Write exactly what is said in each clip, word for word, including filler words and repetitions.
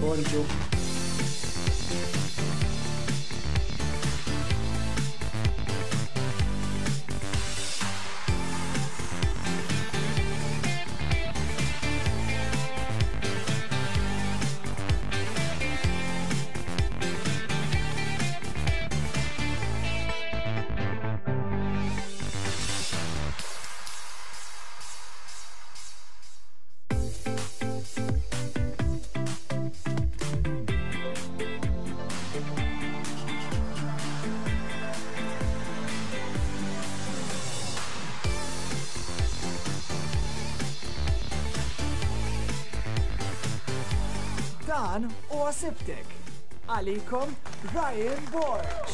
Bonġu. Dan huwa Sibtek. Għalikom Ryan Borg.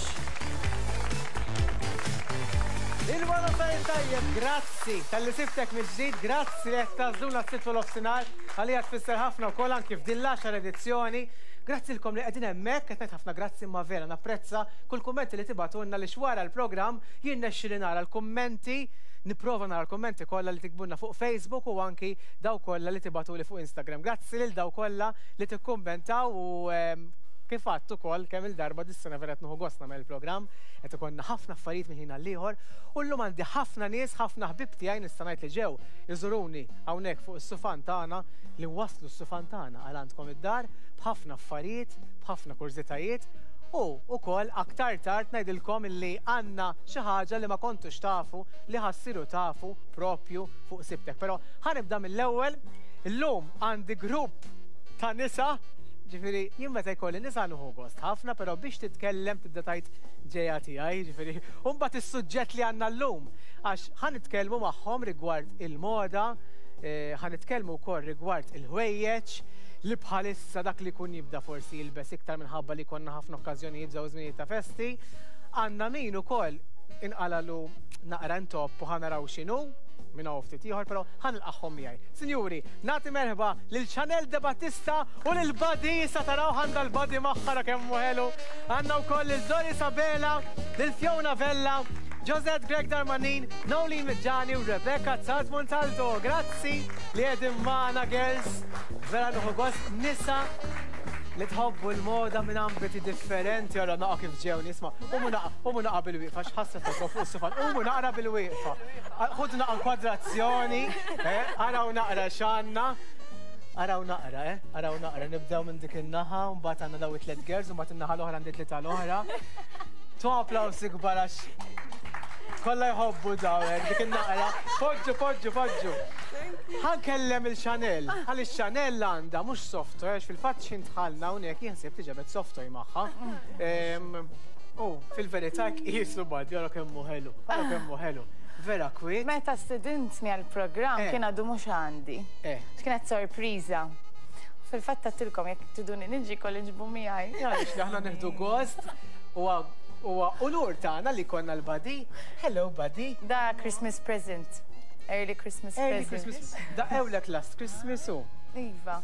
Il-wara tajjeb tajjeb, grazzi talli sibtek mill-ġdid, grazzi li qed tagħżluna s-Sibt nofsinhar, għalija tfisser ħafna wkoll anki f'din l-għaxar edizzjoni. Grazzi lilkom li qegħdin hemmhekk, qed ngħid ħafna grazzi imma vera napprezza kull kummenti li tibagħtulna li wara l-programm jirnexxi li nara l-kummenti, nipprova nara l-kummenti kollha li tiktbulna fuq Facebook u anki daw kollha li tibagħtuli fuq Instagram. Grazzi lil daw kollha li tikkummentaw u ehm, kif għedt ukoll kemm il-darba dis-sena vera qed nieħu gost nagħmel il-programm, qed ikollna ħafna affarijiet minn ħin għall-ieħor u llum għandi ħafna nies, ħafna ħbieb tiegħi nista' ngħid li ġew iżuruni hawnhekk fuq is-sufan tagħna li waslu s-sufan tagħna għal għandkom id-dar b'ħafna affarijiet, b'ħafna kurżitajiet u wkoll aktar tard ngħidilkom illi għandna xi ħaġa li ma kontux tafu li ħa ssiru tafu propju fuq Sibtek. Però ħa nibda mill-ewwel, illum għandi grupp ta' nisa. Ġifieri, jien meta jkolli nisa nieħu gost ħafna, però biex titkellem tibda tgħid ġejja tiegħi, ġifieri, u mbagħad is-suġġett li għandna llum, għax ħa nitkellmu magħhom rigward il-moda, eh, ħa nitkellmu wkoll rigward il-ħwejjeġ, li bħalissa dak li kun jibda forsi jilbes iktar minħabba li konna ħafna okkażjonijiet żew żminijiet ta' festi. Għandna min ukoll inqalalu naqra ntopp u ħa naraw x'inhu minn hawn ftit ieħor, però ħa nilqagħhom miegħi. Sinjuri, nagħti merħba lil Chanel De Battista u lil Buddy, sa taraw għandha l-Buddy magħha kemm hu ħelu. Għandna wkoll lil Doris Abela, lil Fiona Vella, Josette Grech Darmanin, Nolene Midjani u Rebecca Zaz Montalto. Grazzi li qegħdin magħna, girls. Vera nieħu gost nisa li tħobbu l-moda minn ambiti differenti, għara naqa kif ġew nisma. Qumu naqa, qumu naqa bil-wieqfa, x'ħassa fuq fuq is-sufan, qumu naqra bil-wieqfa. Ħudu naqa inkwadrazzjoni, eh, araw naqra x'għandna. Araw naqra, eh, araw naqra, nibdew minn dik in-naħa, mbagħad għandna daw it-tliet girls, u mbagħad in-naħa l-oħra għandi tlieta l-oħra. Tu applawsi kbar għax kollha jħobbu daw, eh, dik in-naqra. Poġġu, poġġu, poġġu. Ħa nkellem il-Chanel, għaliex Chanel għandha mhux soft toy, għax fil-fatt x'ħin dħalna hawnhekk jien ħsibt li ġabet soft toy magħha. U fil-verità qisu Buddy, ara kemm hu ħelu, ara kemm hu ħelu. Vera kwiet. Meta stedintni għal-programm Eh. kien għadu mhux għandi. Eh. Kienet sorpriża. Fil-fatt għedtilkom jekk triduni niġi kolli ġibu miegħi. Għaliex li aħna nieħdu gost huwa huwa unur tagħna li konna l-Buddy. Hello, Buddy. Da Christmas present. Early Christmas Early present. Christmas. Da ewlek last Christmas u. Iva.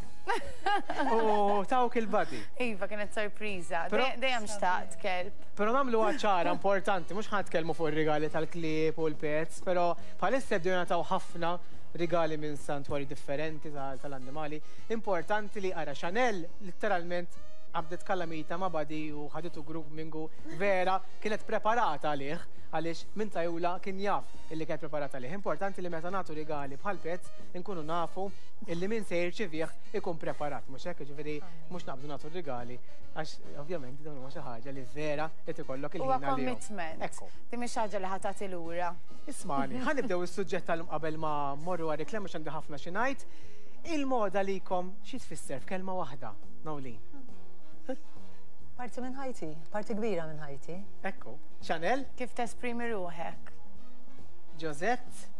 U tawk il-Buddy. Iva, kienet sorpriża. Però- Dej- Dejjem xtaqt kelb. Però nagħmlu ċara importanti, mhux ħa nitkellmu fuq ir-rigali tal-klieb u l-pets, però bħalissa bdew jingħataw ħafna rigali minn santwari differenti tal- tal-annimali. Importanti li ara Chanel literalment qabdet kallamita ma' Buddy u ħaditu grooming u vera kienet preparata għalih għaliex minn tajula kien jaf illi kienet preparata għalih. Importanti li meta nagħtu rigali bħal pets inkunu nafu illi min se jirċivih ikun preparat, mhux hekk, ġifieri mhux naqbdu nagħtu rigali għax ovvjament dawn huma xi ħaġa li vera qed ikollok Huwa il-ħin għalihom. commitment. Ekku. Di mhix ħaġa li ħa tagħti lura. Ismani, ħa nibdew is-suġġett tal-lum qabel ma mmorru għar-reklam għax għandi ħafna xi ngħid. Il-moda likom xi tfisser f'kelma waħda, Nolene? Parti minn ħajti, parti kbira minn ħajti. Ekku. Chanel, Kif tesprimi ruħek? Josette,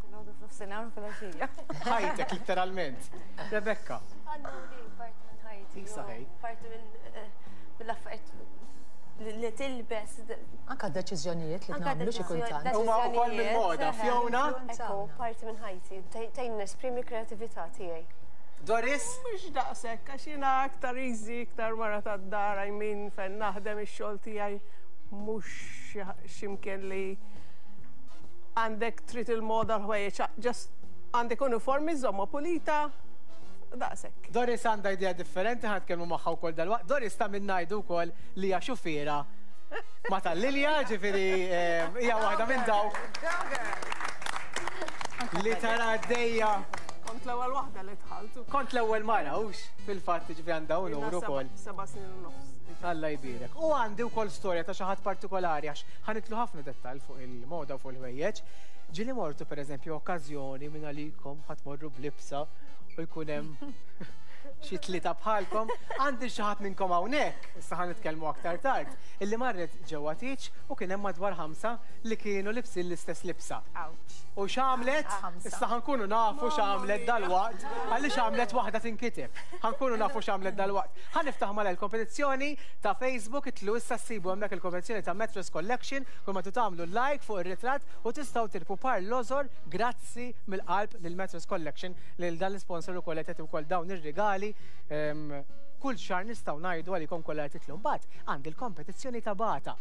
Filgħodu, f'nofsinhar u filgħaxija. ħajtek literalment. Rebecca, Għandu li parti minn ħajti. Isa ħej. Parti minn eh, mill-affarijiet li li tilbes. Anka deċiżjonijiet li Anka nagħmlu xi kultant. Huma wkoll mill-moda, Fiona, Ekku, parti minn ħajti. Tgħin nesprimi kreatività tiegħi. Doris, Mhux daqshekk, għax jiena aktar easy, iktar mara tad-dar, I mean, fejn naħdem ix-xogħol tiegħi mhux x'imkien li għandek trid il-moda l-ħwejjeġ, just għandek uniformi żomma pulita, Daqshekk. Doris għandha idea differenti, ħa nitkellmu magħha wkoll dalwaqt. Doris ta' min ngħidu wkoll li hija xufiera ma' tal-Lilja, ġifieri hija waħda minn dawk li tara għaddejja. Kont l-ewwel waħda li dħalt. Kont l-ewwel mara, hux fil-fatt ġifieri għandha unur ukoll. Seba' snin u nofs. Alla jbierek. U għandi wkoll storja ta' xi ħadd partikolari għax ħa nidħlu ħafna dettall fuq il-moda u fuq il-ħwejjeġ. Ġieli mortu pereżempju okkażjoni minn għalikom ħa tmorru b'libsa u jkun hemm xi tlieta bħalkom. Għandi xi ħadd minnkom hawnhekk, issa ħa nitkellmu aktar tard, illi marret ġewwa tieġ u kien hemm madwar ħamsa li kienu libsin l-istess libsa. U x'għamlet? Issa ħa nkunu nafu x'għamlet dalwaqt, għaliex għamlet waħda tinkiteb. Ħa nkunu nafu x'għamlet dalwaqt. Ħa niftaħ mal kompetizzjoni ta' Facebook, itlu issa ssibu hemmhekk il-kompetizzjoni ta' Metros Collection, kull ma tagħmlu like fuq ir-ritratt u tistgħu tirbħu par lożor grazzi mill-qalb lil Metros Collection lil dan l-sponsor ukoll qed ukoll dawn ir-rigali. Kull xahar nistgħu ngħidu għalikom kollha qed titlu. Mbagħad għandi l-kompetizzjoni ta' Bata.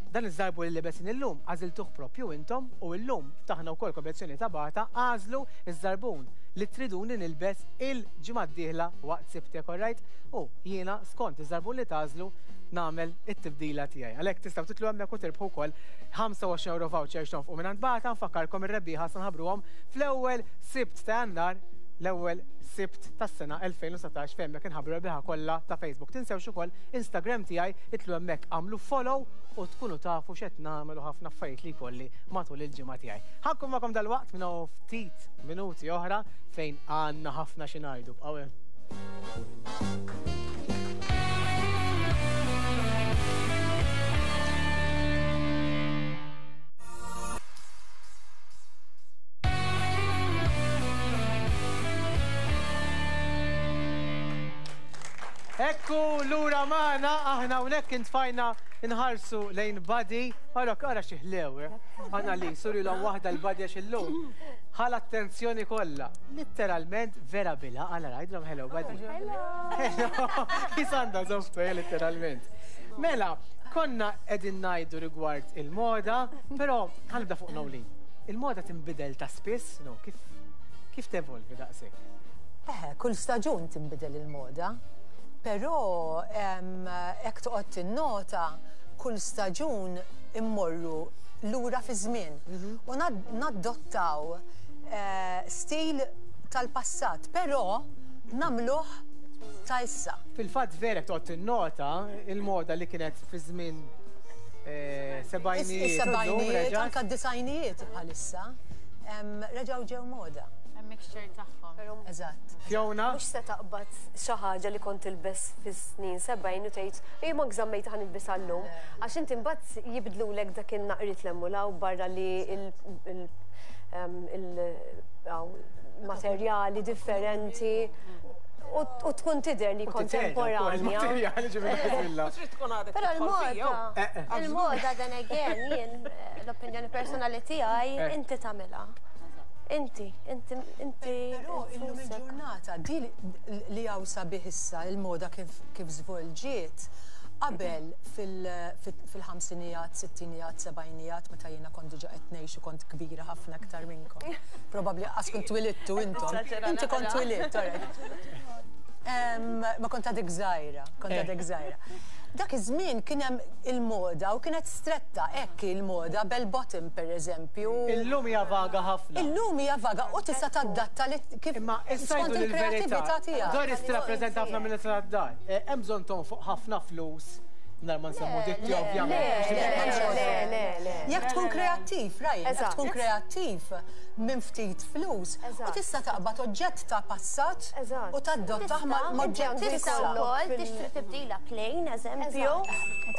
Dan iż-żarbun li libesin illum għażiltuh propju intom u illum ftaħna wkoll kompetizzjoni ta' Bata, għażlu iż-żarbun li triduni nilbes il-ġimgħa d-dieħla waqt Sibtek, alright? U jiena skont iż-żarbun li tagħżlu nagħmel it-tibdila tiegħi. Għalhekk tistgħu titlu hemmhekk u tirbħu wkoll ħamsa u għoxrin euro voucher x'tonfqu mingħand Bata. Nfakkarkom ir-rebbieħa se nħabbruhom fl-ewwel Sibt ta' Jannar, l-ewwel Sibt tas-sena elfejn u satax, fejn hemmhekk inħabbru rebbieħa kollha ta' Facebook. Tinsewx ukoll Instagram tiegħi, itlu hemmhekk għamlu follow u tkunu tafu x'qed nagħmlu ħafna affarijiet li jkolli matul il-ġimgħa tiegħi. Ħa nkun magħkom dalwaqt minn hawn ftit minuti oħra fejn għandna ħafna xi ngħidu. Bqgħu hemm. Ekku lura magħna, aħna hawnhekk intfajna nħarsu lejn Buddy. Ara, ara xi ħlew, eh? Għandna li suri l waħda l-Buddy għax illum. Ħa l-attenzjoni kollha. Literalment vera bila, għala rajdlhom hello Buddy. Hello. Jisanda zoftu, eh, literalment. Mela, konna qegħdin ngħidu rigward il-moda, però ħa nibda fuq Nolin. Il-moda tinbidel ta' spiss, no, kif kif tevolvi daqshekk? Eh, kull staġun tinbidel il-moda. Però hekk toqgħod tinnota kull staġun immorru lura fi żmien u naddottaw stil tal-passat, però nagħmluh ta' issa. Fil-fatt vera toqgħod tinnota il-moda li kienet fi żmien sebgħinijiet, is-sebgħinijiet, anke d-disgħinijiet bħalissa reġgħu ġew moda. Mixture tagħhom. Eżatt. Fiona? Mhux se taqbad xi ħaġa li kont tilbes fis-snin sebgħin u tgħid ej ma gżammejt ħa nilbisha llum. Għax inti mbagħad jibdlulek dak in-naqriet l-emmulaw barra li il-materjali differenti u tkun tidher li kontemporanja. Però l-moda, il-moda then again, jien l-opinjoni personali tiegħi inti tagħmilha. Inti, inti, inti. Però illum il-ġurnata, di li hawn sabiħ issa il-moda kif żvolġiet, qabel fil-ħamsinijat, sittinijat, sebgħinijat, meta jiena kont diġà qed ngħix u kont kbira ħafna aktar minnkom. Probabbli qas kont twilidtu intom. Inti kont twilidt, alright. Ma kont għadek żgħira, kont għadek żgħira. Dak iż-żmien kien hemm il-moda u kienet stretta hekk il-moda, bell bottom pereżempju. Illum hija vaga ħafna. Illum hija vaga u tista' tadatta li kif Imma issa skont jgħidu il-kreattività l-verità. tiegħek. Doris tirrappreżenta ħafna minn nisa tad-dar. Hemm bżonn tonfoq ħafna flus nar ma nsemmu ditti ovvjament. Le, le, le. Jekk tkun kreattiv, Ryan, jekk Eżatt. tkun kreattiv minn ftit flus u Eżatt. tista' taqbad oġġett ta' passat Eżatt. u tadottah ma' oġġett Tista' issa. wkoll tixtri tibdila plain, eżempju,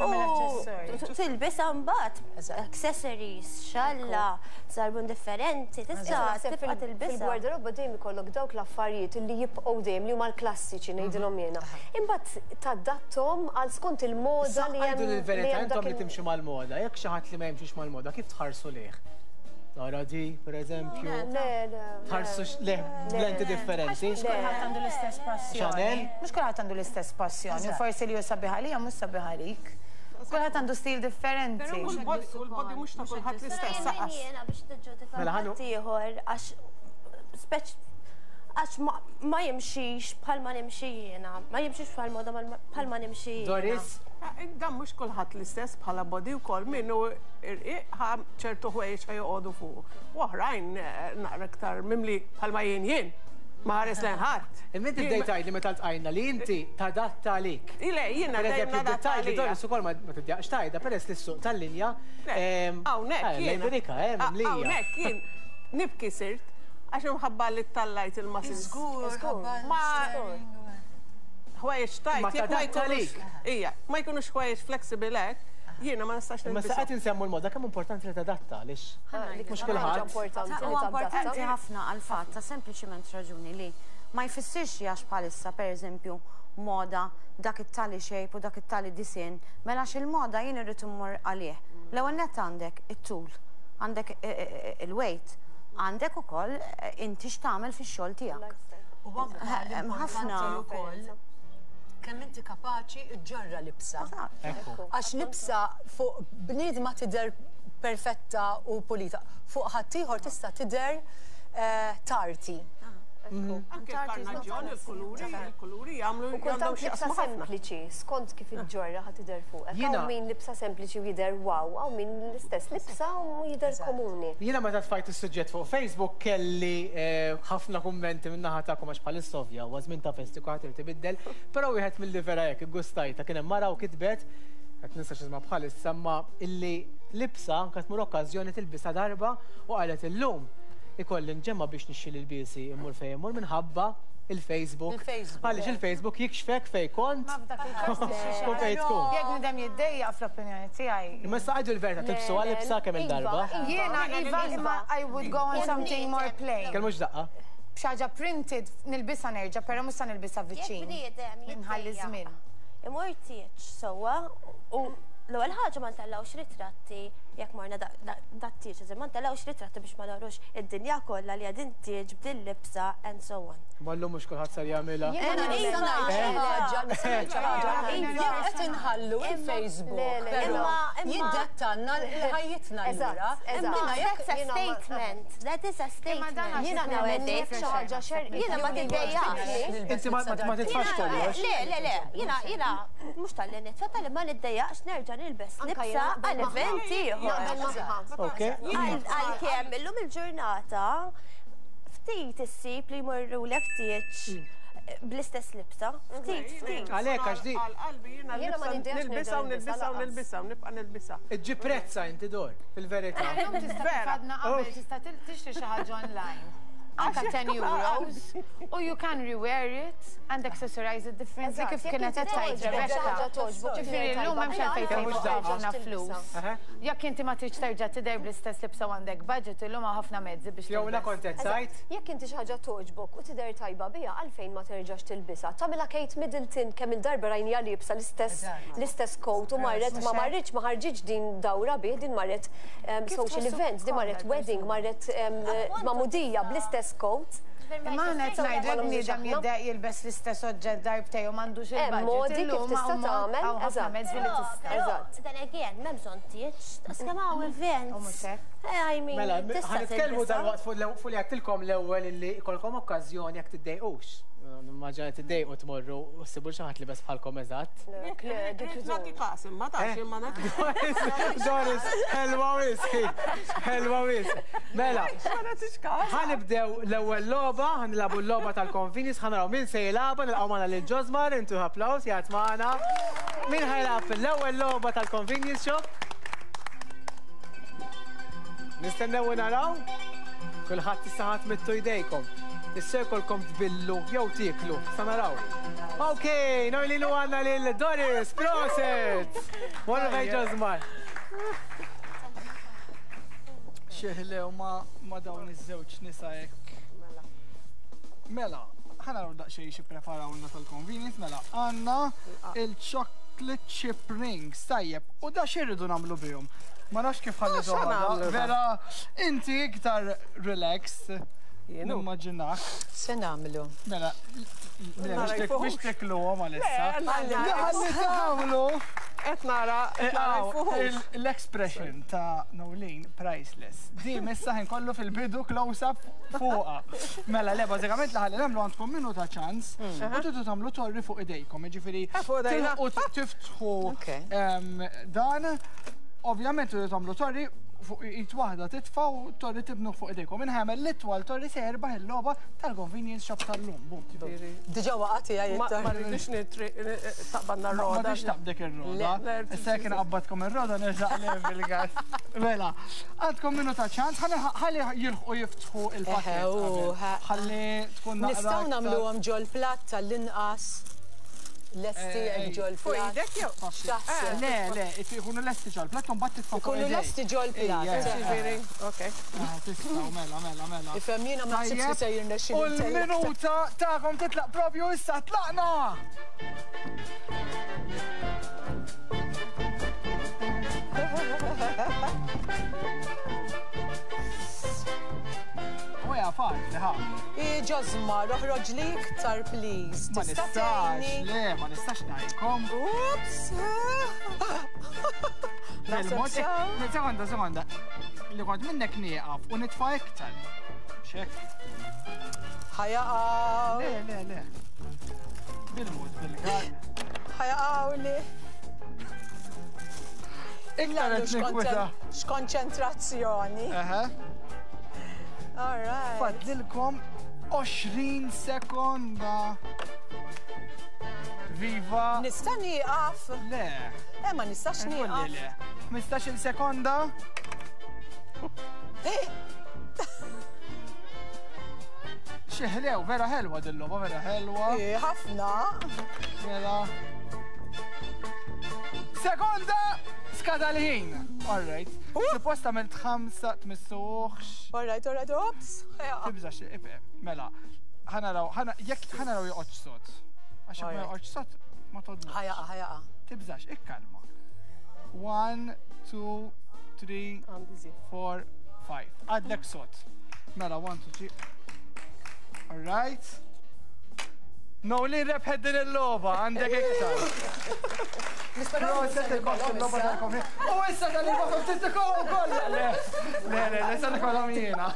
u tilbisha mbagħad Eżatt. accessories, xalla, żarbun differenti, tista' tibqa' tilbisha. Fil-gwardarobba dejjem ikollok dawk l-affarijiet li jibqgħu dejjem li huma l-klassiċi ngħidilhom jiena. Imbagħad tadattom għal skont il-moda li hemm. Għajdu l-verità, hemm intom dak li il- timxu mal-moda, jekk xi ħadd li ma jimxix mal-moda, kif tħarsu lih? Tara di, per eżempju, Le, le. tħarsu lih b'lenti differenti. Mhux kulħadd għandu l-istess passjoni. Chanel? Mhux kulħadd għandu l-istess passjoni. Forsi li hu sabiħ għalija mhux sabiħ għalik. Kulħadd għandu stil differenti. Però u l-body mhux ta' kulħadd l-istess Però saqas. jiena biex tiġġudika Mela, ħanu- ħadd ieħor għax speċ Għax ma jimxix bħalma nimxi jiena, ma jimxix bħal moda bħalma nimxi jiena. Doris? Dan mhux kulħadd l-istess bħala body wkoll min hu irqiq ċertu ħwejjeġ ħa joqogħdu fuq. U oħrajn naqra iktar mimli bħalma jien jien. Ma ħares lejn ħadd. Imma inti bdejt tgħidli meta ltqajna li inti tadatta għalik. Ile, jiena dejjem nadatta għalija. Doris ukoll ma tiddejjaqx tgħidha peress li s-suq tal-linja. Hawnhekk jien. Hawnhekk jien nibki sirt. Għax imħabba li tallajt il-muscles. Żgur, ma ħwejjeġ tajt. Ma tadatta għalik. Ija, ma jkunux ħwejjeġ flexible hekk, jiena ma nistax Ma nilbishom. sa qed insemmu l-moda kemm importanti li tadatta għaliex mhux kulħadd. Huwa importanti ħafna għal-fatt ta' sempliċiment raġuni li ma jfissirx li għax bħalissa pereżempju moda dak it-tali shape u dak it-tali disinn, mela għax il-moda jien irrid immur għalih. L-ewwel nett għandek it-tul, għandek il-weight, għandek ukoll inti x'tagħmel fix-xogħol tiegħek. U anke ħafna ukoll kemm inti kapaċi ġġorra libsa. Għax libsa fuq bniedma tidher perfetta u pulita, fuq ħaddieħor tista' tidher tarti. Anke l-karnaġġjon, il-kuluri, il-kuluri jagħmlu U kultant libsa sempliċi, skont kif iġġorra ħa tidher fuq. Hawn min libsa sempliċi u jidher wow, hawn min l-istess libsa u jidher komuni. Jiena meta tfajt is-suġġett fuq Facebook kelli ħafna kummenti minn naħa tagħkom għax bħalissa ovvja huwa żmien ta' festi kulħadd irid ibiddel, però wieħed milli vera hekk iggustajta kien hemm mara u kitbet qed ninsa x'isma' bħalissa imma illi libsa anke tmur okkażjoni tilbisha darba u qalet illum ikolli nġemma biex nixxi l-biesi immur fejn immur minħabba il-Facebook. Għaliex il-Facebook jikxfek fejn kont u fejn tkun. Jekk nidem jiddejjaq fl-opinjoni tiegħi. Imma issa għidu l-verità tilbsu għal-libsa kemm il-darba. Jiena iva imma I would go on something more plain. Kemm mhux daqqa. Xi ħaġa printed nilbisha nerġa' però mhux se nilbisha viċin. Nħalli żmien. Imur tieġ sewwa u l-ewwel ħaġa ma ntellgħux ritratti jekk morna dat-tieġ, ma ntellgħux ritratti biex ma narux id-dinja kollha li qegħdin tieġ b'din libsa and so on. Ma llum mhux kulħadd sar jagħmilha. Jiena nista' ngħid xi ħaġa, nista' ngħid xi ħaġa. Jekk qed inħallu il-Facebook, però jiddettanna l-ħajjitna lura. That's a statement. That is a statement. Jiena nemmen xi ħaġa xer, jiena ma tiddejjaqx. Inti ma titfax kollox. Le, le, le, jiena jiena mhux tal-li nitfa' tal-li ma niddejjaqx nerġa' nilbes libsa għal event ieħor. Għalkemm illum il-ġurnata ftit issib li jmorrulek tieġ bl-istess libsa. Ftit, ftit. Għalhekk għax di. Għal-qalbi jiena nilbisha u nilbisha u nilbisha u nibqa' nilbisha. Iġġib prezza inti dor, fil-verità. Tista' tifadna qabel tista' tixtri xi ħaġa online. Anka ten euros, u you can rewear it and accessorize it differently kif kienet qed tgħid Rebecca. Ġifieri llum m'hemmx għalfejn tgħid ħafna flus. Jekk inti ma tridx terġa' tidher bl-istess libsa u għandek budget illum hawn ħafna mezzi biex Jew la kont qed tgħid. Jekk inti xi ħaġa togħġbok u tidher tajba biha għalfejn ma terġax tilbisha. Tagħmilha Kate Middleton kemm il-darba rajnija liebsa l-istess l-istess coat u marret ma marritx ma ħarġitx din dawra bih din marret social events, din marret wedding, marret magħmudija bl-istess coat. Imma aħna qed ngħidu jekk bniedem jiddejjaq jilbes l-istess oġġett darbtejn u m'għandux il-budget. Modi kif tista' tagħmel, hawn ħafna mezzi li tista'. Eżatt. Then again, m'hemm bżonn tieġ, daqskemm hawn events. I mean, Mela, ħa nitkellmu dalwaqt fuq li għedtilkom l-ewwel illi jkollkom okkażjoni jekk tiddejqux. Nimmaġina tiddejqu tmorru u ssibu xi ħadd libes bħalkom eżatt. Nagħti każ imma tafx imma nagħti. Doris, ħelwa wisq, ħelwa wisq. Mela, ħa nibdew l-ewwel logħba, ħa nilagħbu l-logħba tal-convenience, ħa naraw min se jilagħbha, nilqgħu magħna lil Josmar, intu applaws jgħid magħna. Min ħa jilgħab l-ewwel logħba tal-convenience shop? Nistennew u naraw? Kulħadd issa ħadd mittu jdejkom. Issa jkollkom tbillu jew tieklu, sa naraw. Ok, noi li għandna lil Doris, proset! Morru fejn Josmar. Xeħlew ma dawn iż-żewġ nisa hekk. Mela, ħa naraw daqsxejn xi preparawlna tal-convenience, mela għandna il-chocolate chip rings, tajjeb, u da x'irridu nagħmlu bihom? Ma nafx kif ħalli vera, inti iktar relaxed. Nimmaġinak. Se nagħmlu? Mela, biex tekluhom għalissa. Li ħalli tagħmlu. Qed nara l-expression ta' Noeleen priceless. Di missa ħin kollu fil-bidu close-up fuqa. Mela le, bażikament li ħalli nagħmlu għandkom minuta ċans u tridu tagħmlu torri fuq idejkom, jiġifieri u tiftħu dan. Ovvjament tridu tagħmlu torri fuq id waħda titfa' u torri tibnu fuq idejkom. Inħamel l-itwal torri se jerbaħ il-logħba tal-convenience shop tal-lum. Diġà waqgħet hija jittar. Ma rridux taqbadna r-roda. Ma rridux taqbdek ir-roda. Issa jekk inqabbadkom ir-roda nerġa' qleb il-gas. Mela, għandkom minuta ċans, ħalli jilħqu jiftħu il-pakket. Ħalli tkun naqra. Nistgħu nagħmluhom ġol-platt tal-inqas. Lesti ġol plat. Le, le, ikunu lesti ġol plat, un bat titfa' Ikunu lesti ġol plat. Ok. Tistgħu, mela, mela, mela. Ifhem jiena ma ħsibx li se jirnexxi. U l-minuta tagħkom titlaq propju issa tlaqna! Uja, faċli, ħa. Ġożma, roħroġ li iktar, please. Ma nistax, le, ma nistax ngħidkom. Ups! Sekonda, sekonda. Li kont minnek nieqaf u nitfa' iktar. Xek. Ħajaqaw. Le, le, le. Bil-mod, bil-gar. Ħajaqaw li. Iktar qed ninkwita. X'konċentrazzjoni. Eħe. All right. Fadlilkom għoxrin sekonda. Viva. Nista' nieqaf? Le. Eh, ma nistax nieqaf. Le. ħmistax-il sekonda. Xi ħlew, vera ħelwa dil-logħba, vera ħelwa. Eh, ħafna. Mela. Sekonda! Skada l-ħin. All right. Suppost għamilt ħamsa tmissuħx. All right, all right, ops. Tibżax, mela. Ħanaraw, jekk ħanaraw joqgħodx sod. Għax ma joqgħodx sod, ma todlux. Ħajaqa, ħajaqa. Tibżax, ikkalma. One, two, three, four, five. Għadlek sod. Mela, one, two, three. All right. Noeleen rebħet din il-logħba, għandek iktar. Proset il-bost il-logħba tal-konfini. U issa tal-bost tittikolhom kollha. Le, le, le, issa nikollhom jiena.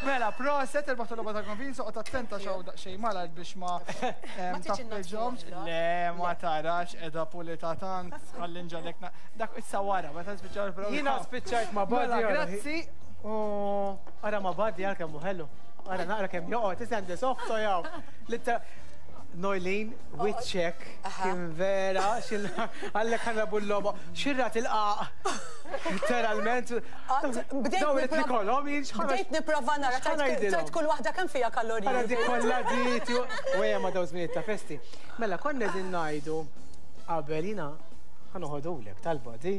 Mela, proset il-bost il-logħba tal-konfini, soqgħod attenta xew daqsxejn malajr biex ma taffiġhomx. Le, ma tarax qiegħda pulita tant, ħalli nġalek. Dak issa wara, meta spiċċaw il-programm. Jiena spiċċajt ma' badi. Mela, grazzi. Ara ma' badi għal kemm hu ħelu. Ara naqra kemm joqgħod, isendi softo jaw. Noeleen, wiċċek, kien vera, għallek ħanrabu l-logħba, xirra tilqaq, literalment. Bdejt nipprova nara, tajt kull waħda kemm fiha kaloriji. Għara dik kollha dit, u ejja ma daw żminijiet ta' festi. Mela, konna qegħdin ngħidu qabel jiena ħanoħodulek tal-body.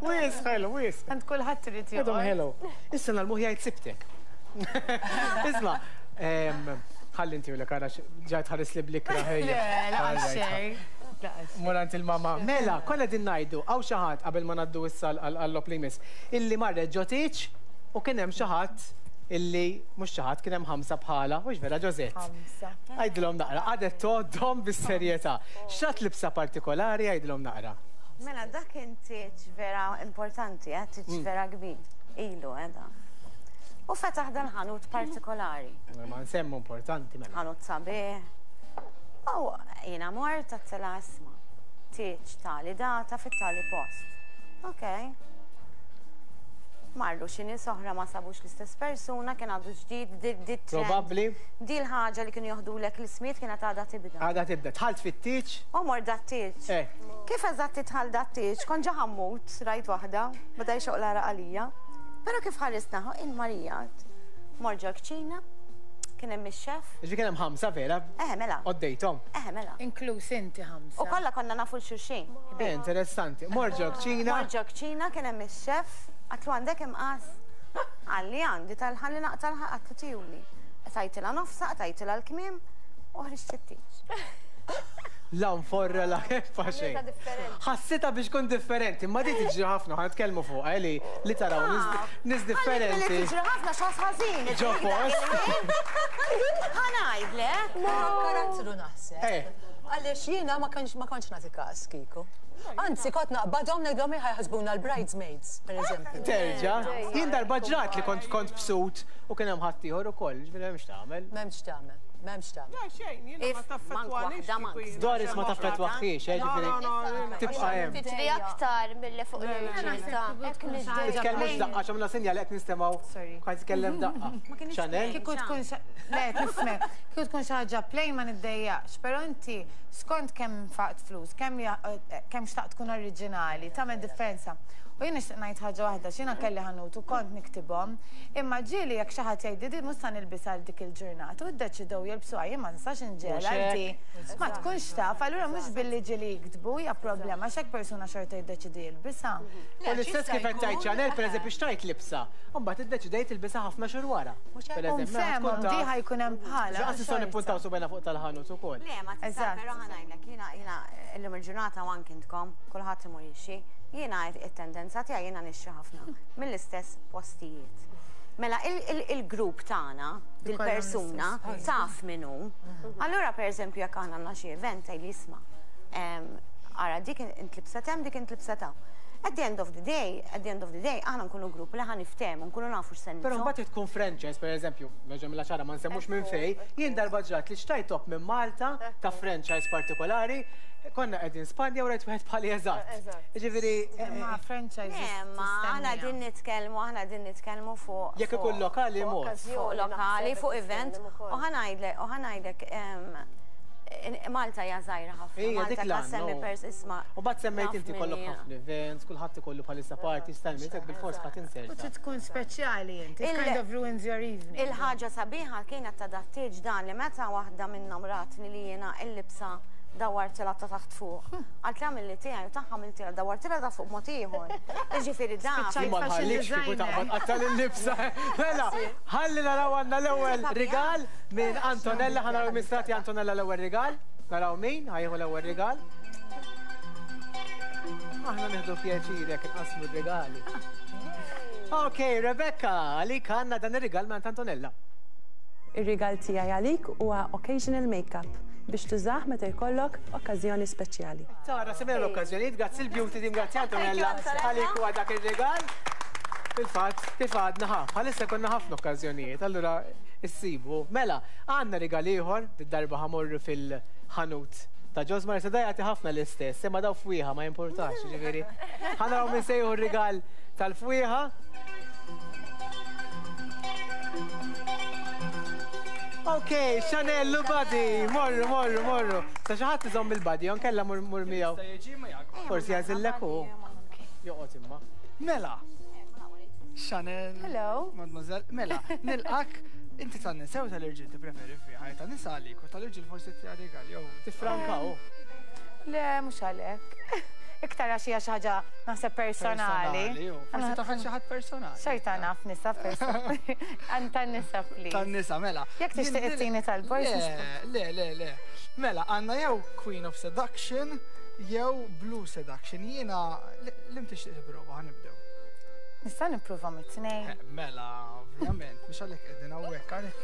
Wis, ħelu, wis. Għand kulħadd irid joqgħod. Ħelu. Issa nagħlmuh jgħid sibtek. Isma', ħalli inti u l għara ġajt ħares li blikra ħejja. Le, laqas xejn. Morant il-mama. Mela, kolla din ngħidu, għaw xi ħadd qabel ma ngħaddu issa għall-lop li jmiss, illi marret ġo tieġ u kien hemm xi ħadd illi mhux xi ħadd kien hemm ħamsa bħala, mhux vera Ġożett. Ħamsa. Għidilhom naqra, qadet tgħoddhom bis-serjetà. X'għad libsa partikolari għidilhom naqra. Mela, dak kien tieġ vera importanti, eh, tieġ vera kbir. Ilu, eh, U fetaħ dan ħanut partikolari. Ma nsemmu importanti mela. Ħanut sabiħ. U jiena mort għattela isma. Tieġ tali data fit-tali post. Ok. Marru xi nies oħra ma sabux l-istess persuna, kien għadu ġdid, di trend. Probabbli. Di l-ħaġa li kienu joħdulek l-ismijiet kienet għadha tibda. Għadha tibda. Dħalt fit-tieġ? U mort dat-tieġ. Kif eżatt tidħal dat-tieġ? Kont ġa ħammut, rajt waħda, beda jxoq l-għaraq għalija. Però kif ħarisna il-Marija, morġa l-kċina, kien hemm ix-xef. Ġifieri kien hemm ħamsa vera? Eh, mela. Għoddejthom. Eh, mela. Inkluż inti ħamsa. U kollha konna nafu l-xulxin. Eh, interessanti. Morġa l-kċina. Morġa l-kċina kien hemm ix-xef, għatlu għandek imqas. Għalli għandi tal-ħalli naqtal għatlu tijuli. Tajtilha nofsa, tajtilha l-kmiem, u ħriġt it-tieġ. La nforra la keffa xejn. Ħassitha biex kun differenti, ma di tiġri ħafna, ħa nitkellmu fuqha li li taraw nies differenti. Tiġri ħafna x'ħas ħażin. Ġo post. Ħa ngħidlek. Karattru naħseb. Għaliex jiena ma kienx ma kontx nagħti każ kieku. Anzi, kont naqbadhom ngħidlhom ħa jaħsbuna l-bridesmaids, per eżempju. Terġa, jien darba ġrat li kont kont b'suit u kien hemm ħaddieħor ukoll, ġifieri m'hemmx tagħmel. M'hemmx tagħmel, m'hemmx tagħmel. Le, xejn, jiena ma If mank taffettwanix. waħda, mank. kieku jiena Doris ma xi taffettwaħiex, eh, No, ġifieri no, no, tibqa' hemm. Tiġri aktar milli fuq l-irġiel ta' Titkellmux daqqa, għamilna sinjal qed nistemgħu. Sorry. Kont titkellem daqqa. Chanel? Kieku tkun xa- le, tifhem, kieku tkun xi ħaġa plain ma niddejjaqx, però inti skont kemm nfaqt flus, kemm ja- eh, kemm xtaqt tkun oriġinali, tagħmel differenza. U jien nixtieq ngħid ħaġa waħda, x'jiena kelli ħanut u kont niktibhom, imma ġieli jekk xi ħadd jgħidli din mhux sa nilbisha għal dik il-ġurnata u ddeċidew jilbsuha jien ma nistax inġegħelha Mhux għal di. Ma tkunx taf, allura mhux billi ġieli jiktbu hija problema għax hekk persuna xorta jiddeċidi jilbisha. U l-istess kif qed tgħid Chanel, pereżempju xtrajt libsa, u mbagħad iddeċidejt tilbisha ħafna xhur wara. Per eżempju, mela Fehmhom tkun di taf. ħa jkun hemm bħala. Ġaqas nistgħu xorta. nippuntaw subgħajna fuq tal-ħanut ukoll. Le, ma tista' Eżatt. però ħa ngħidlek, jiena jiena illum il-ġurnata u anki intkom, kulħadd imur jixtri. Jiena it-tendenza tiegħi jiena nixtri ħafna mill-istess postijiet. Mela il-grupp tagħna, dil-persuna, taf min hu. Allura pereżempju jekk aħna għandna xi event tgħid li isma' ara dik intlibset hemm, dik intlibset hawn. At the end of the day, at the end of the day, aħna nkunu grupp li ħa niftehmu, nkunu nafu x'se Però nilbsu. mbagħad tkun franchise, per eżempju, nerġa' mill ċara ma nsemmux minn fej, jien darba ġrat li xtrajt top minn Malta ta' franchise partikolari, konna qegħdin Spanja u rajt wieħed bħali eżatt. Ġifieri, Ma franchise. Le, ma aħna din nitkellmu, aħna din nitkellmu fuq. jekk ikun lokali mod. Fuq lokali, fuq event. U ħa ngħidlek, u ħa ngħidlek, Malta hija żgħira ħafna. Ejja, dik Malta l-għan, semmi no. pers isma'. U mbagħad semmejt naf inti min kollok hija. ħafna events, kulħadd ikollu bħalissa party, stalmi, bil-fors ħadd U inserta. trid tkun speċjali inti. It Il- kind of ruins your evening. Il-ħaġa sabiħa kienet ta' dat-tieġ dan li meta waħda minnhom ratni li jiena il-libsa dawartilha ta' taħt fuq. Għalt li għamil li tiegħi u tagħha għamiltilha dawartilha ta' fuq mod ieħor. Jiġifieri dan. Spiċċajt Ma fashion nħallikx kieku designer. taqbad qattal il-libsa. Mela, ħalli naraw għandna l-ewwel rigal minn Antonella, ħa naraw minn strati Antonella l-ewwel rigal. Naraw min, ħa jieħu l-ewwel rigal. Aħna nieħdu pjaċir jekk inqasmu r-regali. Ok, Rebecca, għalik għandna dan ir-rigal minn Antonella. Ir-rigal tiegħi għalik huwa occasional makeup biex tużah meta jkollok okkażjoni speċjali. Tara, semmejna l-okkażjonijiet, grazzi l-beauty team, grazzi Antonella, għalik huwa dak ir-rigal. Fil-fatt, kif għadna ħa, bħalissa konna ħafna okkażjonijiet, allura issibu. Mela, għandna rigal ieħor, darba ħa mmorru fil-ħanut ta' Josmar, se da jagħti ħafna l-istess, imma daw fwieħa ma jimportax, ġifieri. Ħa naraw min se jieħu r-rigal tal-fwieħa. Ok, Chanel, u Buddy, morru, morru, morru. Sa xi ħadd iżomm il-Buddy, inkella mur mur miegħu. Jista' jiġi ma jgħak. Forsi jagħżillek hu. Joqgħod imma. Mela. Chanel. Hello. Mademoiselle, mela, nilqak inti tan-nisa u tal-irġiel tippreferi fiha, tan-nisa għalik u tal-irġiel forsi tiegħi rigal jew. Tifrankaw. Le, mhux għalhekk. Iktar għax hija xi ħaġa naħseb personali. Personali, u forsi taf xi ħadd personali. Xorta naf nisa personali. Għan tan-nisa please. Tan-nisa, mela. Jekk tixtieq Jien- ittini tal-boys, Le, le, le, le. Mela, għandna jew Queen of Seduction jew Blue Seduction. Jiena li tixtieq tipprova, ħa nibdew. Nista' nipprova mit-tnejn. Eh, Mela, ovvjament, mhux għalhekk qegħdin hawnhekk għalhekk.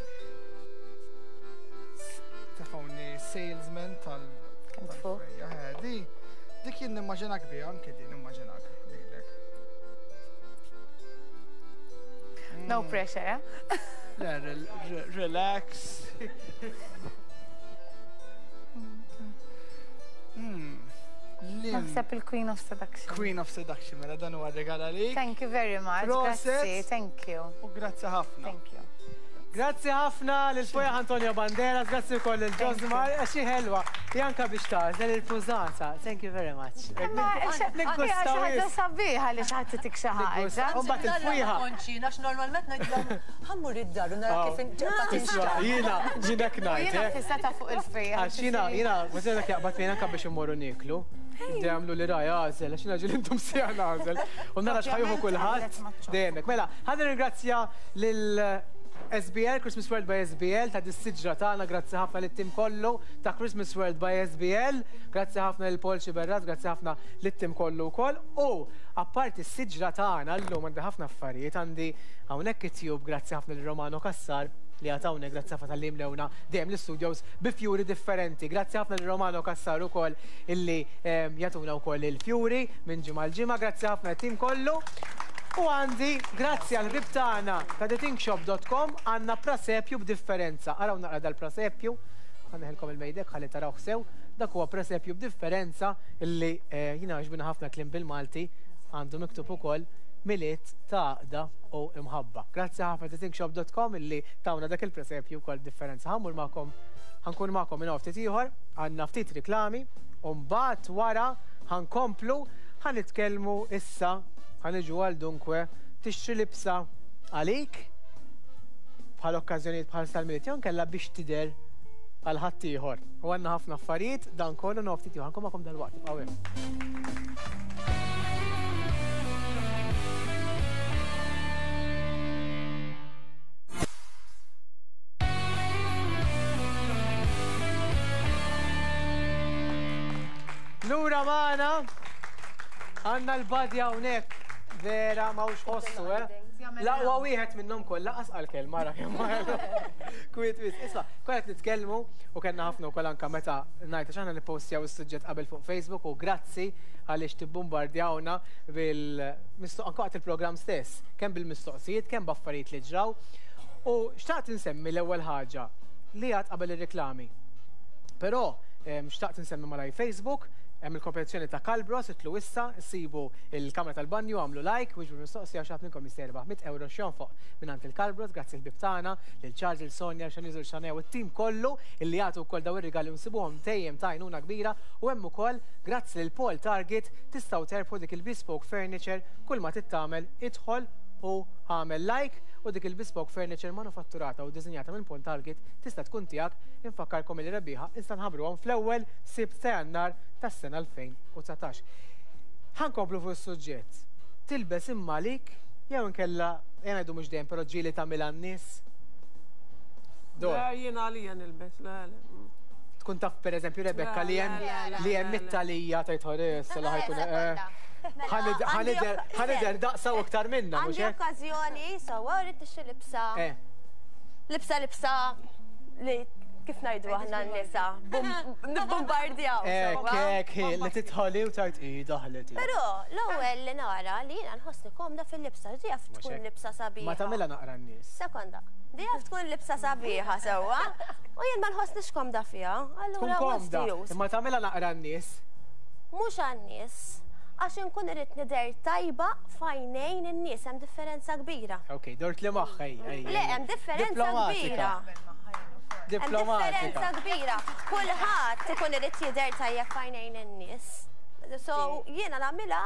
Tefawni salesman tal. Kemm tfuq? tal-frejja, eh, Di, dik jien nimmaġinak biha, anke din nimmaġinak lilek. No pressure, eh? Le, rel- re- relax. Mm. Lim. Naħseb il-Queen of Seduction. Queen of Seduction, mela dan huwa regal għalik. Thank you very much. Proset. Grazzi, thank you. U grazzi ħafna. Thank you. Grazzi ħafna lil Fwieħa Antonio Banderas, grazzi wkoll lil Josmar, għax hi ħelwa. Janka biex tagħżel il-pużanza. Thank you very much. Imma xi ħaġa sabiħa li xi ħadd itik xi ħaġa. U mbagħad il-fwieħa. Konċina, għax normalment ngħidlhom ħa mmur id-dar u nara kif Isma', jiena, jiena ngħid, Jiena eh. fissata fuq il-fwieħa. Għax jiena, jiena, ma dak jaqbad fejn anka biex immorru nieklu. Għamlu li raj għażel, għax jiena ġieli intom sija nagħżel. U nara x'ħa jieħu kulħadd dejjemek. Mela, ħa nirringrazzja lil S B L, Christmas World by S B L, ta' dis-siġra tagħna, grazzi ħafna lit-tim kollu ta' Christmas World by S B L, grazzi ħafna lil Paul Sciberras, grazzi ħafna lit-tim kollu wkoll. U apparti s-siġra tagħna llum għandi ħafna affarijiet, għandi hawnhekk it-tube, grazzi ħafna lil Romano Cassar. li għatawne, grazzi ħafna tal-li mlewna dejjem l-studios bi fjuri differenti. Grazzi ħafna lil Romano Cassar ukoll illi jagħtuna wkoll il-fjuri minn ġimgħa l-ġimgħa. Grazzi ħafna t-tim kollu. U għandi, grazzi għal ħbieb tagħna ta' the think shop dot com, għandna prasepju b'differenza. Araw naqra dal-prasepju, ħaneħilkom il-mejdek ħalli tarawh sew. Dak huwa presepju b'differenza illi jiena għaġbina ħafna kliem bil-Malti, għandu miktub ukoll Milied ta' għaqda u imħabba. Grazzi ħafna the think shop dot com illi tawna dak il-presepju wkoll b'differenza. Ħammur magħkom, ħankun magħkom minn ftit ieħor, għandna ftit riklami, u mbagħad wara ħankomplu ħanitkellmu issa, ħaniġu għal dunkwe tixtri libsa għalik bħal okkażjonijiet bħal tal-Milied jew inkella biex tidher għal ħaddieħor. U għandna ħafna affarijiet dan kollu noftit ftit ieħor. Ħankun magħkom dalwaqt, ibqgħu hemm. Lura magħna għandna l-badja hawnhekk, vera m'hawnx ħossu, eh? L-aqwa wieħed minnhom kollha qas għall-kelma ra kemm kwiet wis. Issa, konna qed nitkellmu u kellna ħafna wkoll anke meta ngħid għax aħna nippostjaw is-suġġett qabel fuq Facebook u grazzi għaliex tibbombardjawna bil-mistoq anke waqt il-programm stess, kemm bil-mistoqsijiet, kemm b'affarijiet li ġraw. U xtaqt insemmi l-ewwel ħaġa li għad qabel ir-reklami. Però xtaqt insemmi malaj Facebook, hemm il-kompetizzjoni ta' Kalbros, itlu issa, sibu il-kamra tal-banju, għamlu like, wiġbu mistoqsija xi ħadd minnkom jista' jerbaħ mitt euro x'jonfoq mingħand il-Kalbros, grazzi l-bib tagħna, lil Charles, lil Sonja, Xaniz u Xanew, u t-tim kollu illi jagħtu wkoll daw ir-rigali u nsibuhom dejjem ta' għajnuna kbira, u hemm ukoll grazzi lil Paul Target tistgħu terbħu dik il-bespoke furniture, kull ma tittamel idħol u għamel like, u dik il-bespoke furniture manufatturata u dizinjata minn Paul Target tista' tkun tiegħek. Infakkarkom il rebbieħa issa nħabbruhom fl-ewwel Sibt ta' Jannar tas-sena elfejn u dsatax. Ħankomplu fuq is-suġġett. Tilbes imma għalik jew inkella jien ngħidu mhux dejjem, però ġieli tagħmilha n-nies. Dor. Le, jiena għalija nilbes, le, le. Tkun taf pereżempju Rebecca li hemm li hemm it-talija tgħid ħares la ħajkun ħanider daqsa u aktar minna, mhux Għandi hekk? okkażjoni, sewwa rrid tixtri libsa. Libsa libsa li kif ngħidu aħna n-nisa, nibbombardjaw. Ek, ek, li titħoli u tgħid i daħlet. Però l-ewwel li nara li jiena nħossni komda fil-libsa, di jaf tkun libsa sabiħa. Ma tagħmilha naqra n-nies. Sekonda, di jaf tkun libsa sabiħa sewwa, u jien ma nħossnix komda fiha, Tkun allura what's komda, the use? imma tagħmilha naqra n-nies. Mhux għan-nies, għax inkun irrid nidher tajba f'għajnejn in-nies, hemm differenza kbira. Ok, dort li magħha hija. Le, hemm differenza kbira. Diplomatika. Hemm differenza kbira. Kulħadd ikun irid jidher tajjeb f'għajnejn in-nies. So jiena nagħmilha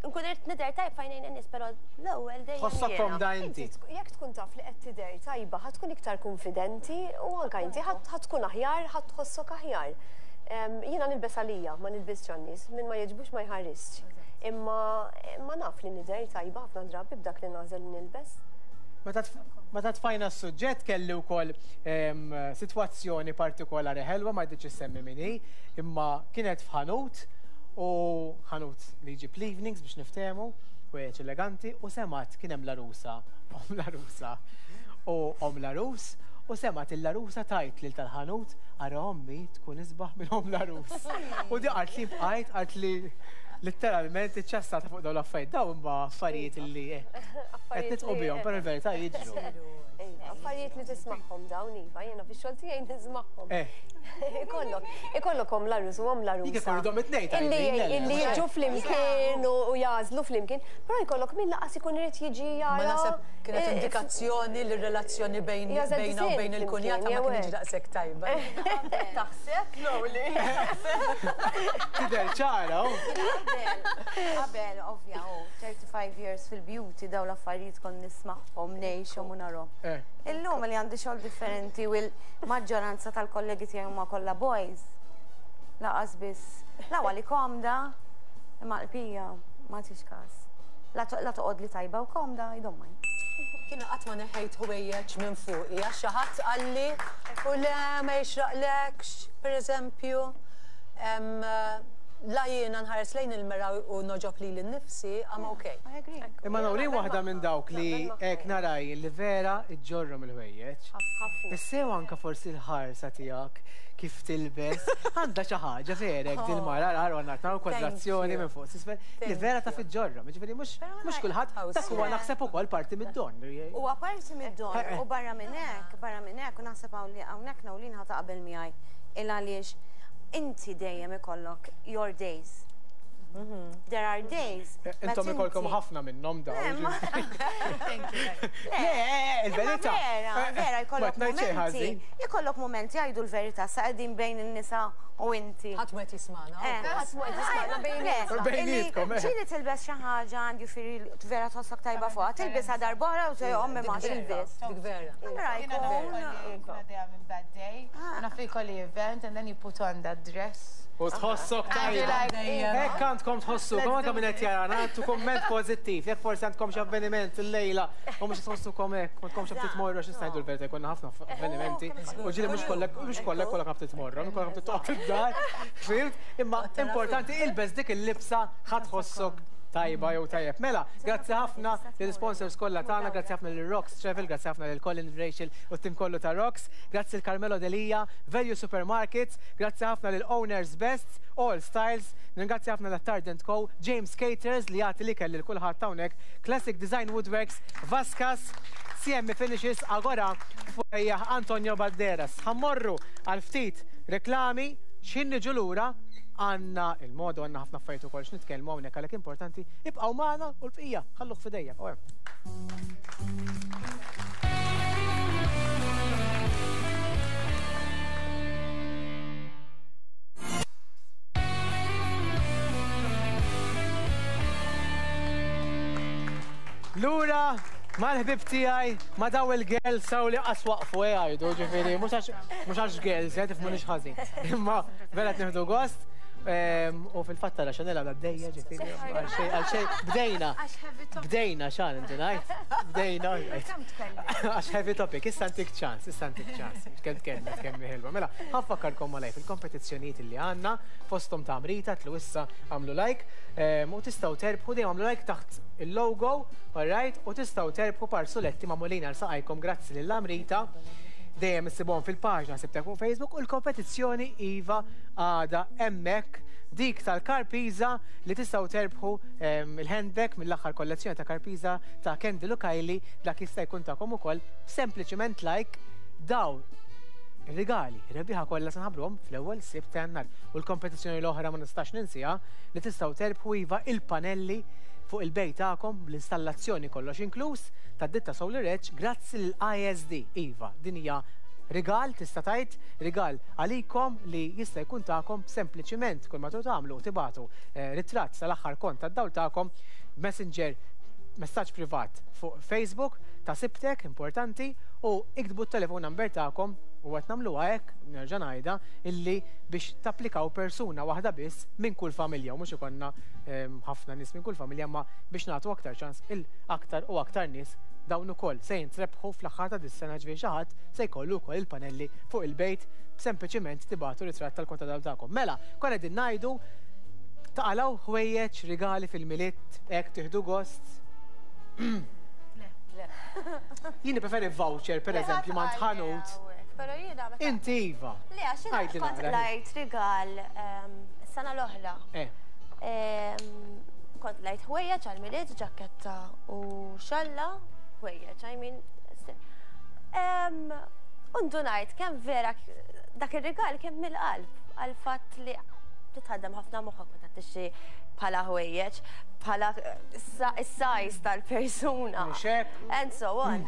nkun irid nidher tajjeb f'għajnejn in-nies, però l-ewwel dejjem. Tħossok komda inti. Jekk tkun taf li qed tidher tajba, ħa tkun iktar konfidenti u anke inti ħa tkun aħjar, ħa tħossok aħjar. Jiena nilbes għalija, ma nilbisx għan-nies, min ma jogħġbux ma jħarisx. Imma ma naf li nidher tajba ħafna drabi b'dak li nagħżel li nilbes. Meta tfajna s-suġġett kelli wkoll sitwazzjoni partikolari ħelwa, ma jridx issemmi min hi, imma kienet f'ħanut u ħanut li jġib l-evenings biex niftehmu, u hekk eleganti, u semat kien hemm l-arusa, om l-arusa u om l-arus, u semat il-arusa tajt lil tal-ħanut ara ommi tkun isbaħ minn om l-arus. U di qalt li bqajt, qalt li letteralment iċċassata fuq dawn l-affarijiet, dawn huma affarijiet li qed nitqu bihom, però l-verità jiġru. Affarijiet li tismagħhom dawn iva, jiena fix-xogħol tiegħi nismagħhom. Ikollok, ikollok om l-arus u om l-arusa. Jekk ikollhom it-tnejn tajbin, Illi jiġu flimkien u jażlu flimkien, però jkollok min laqas ikun irid jiġi jara. Ma naħseb kienet indikazzjoni li r-relazzjoni bejn bejna u bejn il-kunjata ma kienx daqshekk tajba. Taħseb? Lowli. Tidher ċara. Qabel, ovvja, thirty-five years fil-beauty dawn l-affarijiet kon nismagħhom, ngħixhom u narhom. Illum li għandi xogħol differenti u l-maġġoranza tal-kollegi tiegħi huma kollha boys. Laqas biss, l-ewwel li komda, imma l-pija ma tix każ. La toqgħod li tajba u komda, I don't mind. Kienu qatt ma neħejt ħwejjeġ minn fuqi, għax xi ħadd qalli u le ma jixraqlekx, pereżempju. La jiena nħares lejn il-mera u noġob li l-nifsi, I'm okay. Imma Nawrin waħda minn dawk li hekk naraj li vera iġġorrom il-ħwejjeġ. Issew anka forsi l-ħarsa tiegħek kif tilbes, għandha xi ħaġa verek dil-mara għar għandna naraw kwadrazzjoni minn fuq s'isfel li vera ta' fiġġorrom. Jiġifieri mhux mhux kulħadd dak huwa naħseb ukoll parti mid-don. Huwa parti mid-don u barra minn hekk, barra minn hekk u naħseb hawnhekk Nawrin ħa taqbel miegħi il għaliex inti dejjem ikollok your days. There are days. Intom ikolkom ħafna minnhom dawn. Le, il-verità. Vera, vera, jkollok momenti. Jkollok momenti jgħidu l-verità sa qegħdin bejn in-nisa u inti. Ħadd ma qed jismagħna. Ħadd ma qed jismagħna bejnietkom. Ġieli tilbes xi ħaġa għandi firri vera tħossok tajba fuqha, tilbisha darb'oħra u tgħid ommi ma tilbis. Dik vera. Allura jkun. Bad day, naf li jkolli event and then you put on that dress. U tħossok tajba. Hekk għandkom tħossukom, anke minn qed jarana, għandu kumment pożittiv. Jekk forsi għandkom xi avveniment illejla u mhux tħossukom hekk, ma tkomx ftit tmorru għax nista' ngħidu l-verità jkollna ħafna avvenimenti. U ġieli mhux kollek mhux kollek kollok ħafna tmorru, kollok ħafna toqgħod fid-dar. Fimt? Imma importanti ilbes dik il-libsa ħa tħossok tajba jew tajjeb. Mela, grazzi ħafna lill-sponsors kollha tagħna, grazzi ħafna lil Rocks Travel, grazzi ħafna lil Colin Rachel u t-tim kollu ta' Rocks, grazzi l Carmelo Delia, Value Supermarkets, grazzi ħafna lil Owners Best, All Styles, ringrazzi ħafna l Tardent Co, James Caters li jagħti l-ikel lil kulħadd hawnhekk, Classic Design Woodworks, Vaskas, C M Finishes, Agora, Fwejjaħ Antonio Banderas. Ħammorru għal ftit reklami, x'ħin niġu lura għanna il-modu, għanna ħafna affarijiet ukoll x'nitkellmu hawnhekk għalhekk importanti ibqgħu magħna u l-bqija ħalluh f'idejja. Lura mal-ħbib tiegħi ma daw il-girls saw li qas waqfu jgħidu, ġifieri mhux għax girls, qed tifhmunix ħażin. Imma vera qed nieħdu gost. U fil-fatt tara Chanel għadha bdejja, ġifieri għal xejn bdejna. Bdejna xan inti ngħid. Bdejna. Għax heavy topic, issa ntik ċans, issa ntik ċans. Kemm tkellmet kemm ħelwa. Mela, ħanfakkarkom malaj fil-kompetizzjonijiet li għandna fosthom ta' Amrita tlu issa għamlu like u tistgħu terbħu dejjem għamlu like taħt il-logo, all right, u tistgħu terbħu parsuletti magħmulin għal saqajkom grazzi lil Amrita. Dejjem issibhom fil-paġna Sibtek fuq Facebook u l-kompetizzjoni iva għada hemmhekk dik tal-Karpiza li tistgħu terbħu il-handbag mill-aħħar kollezzjoni ta' Karpiza ta' Kendall u Kylie, dak jista' jkun tagħkom ukoll sempliċiment like daw rigali, rebbieħa kollha se nħabbruhom fl-ewwel Sibt ta' Jannar. U l-kompetizzjoni l-oħra ma nistax ninsiha li tistgħu terbħu iva il-panelli fuq il-bejt tagħkom bl-installazzjoni kollox inkluż tad-ditta Solar Edge grazzi lill-I S D. Iva, din hija rigal, tista' tgħid, rigal għalikom li jista' jkun tagħkom sempliċiment kull ma tagħmlu tibatu ritratt sal-aħħar kont tad-dawl tagħkom messenger messaġġ privat fuq Facebook ta' Sibtek, importanti, u iktbu t-telefon number tagħkom u qed nagħmluha hekk, nerġa' ngħidha, illi biex tapplikaw persuna waħda biss minn kull familja u mhux ikollna ħafna nies minn kull familja, ma biex nagħtu aktar ċans il aktar u aktar nies dawn ukoll se jintrebħu fl-aħħar ta' dis-sena, ġifieri xi ħadd se jkollu wkoll il-panelli fuq il-bejt sempliċiment tibatu ritratt tal-konta tagħkom. Mela, konna qegħdin ngħidu taqalgħu ħwejjeġ rigali fil-Milied, hekk tieħdu gost. Jien preferi voucher, per eżempju, ma tħanut. Pero jiena meta. Inti iva. Le, għax jiena kont lajt rigal is-sena l-oħra. Kont lajt ħwejjeġ għall-Milied, ġaketta u xalla, ħwejjeġ, I mean. U ndunajt kemm vera dak ir-rigal kemm mill-qalb għall-fatt li titħaddem ħafna moħħok meta tixtri bħala ħwejjeġ, bħala is-size tal-persuna. And so on.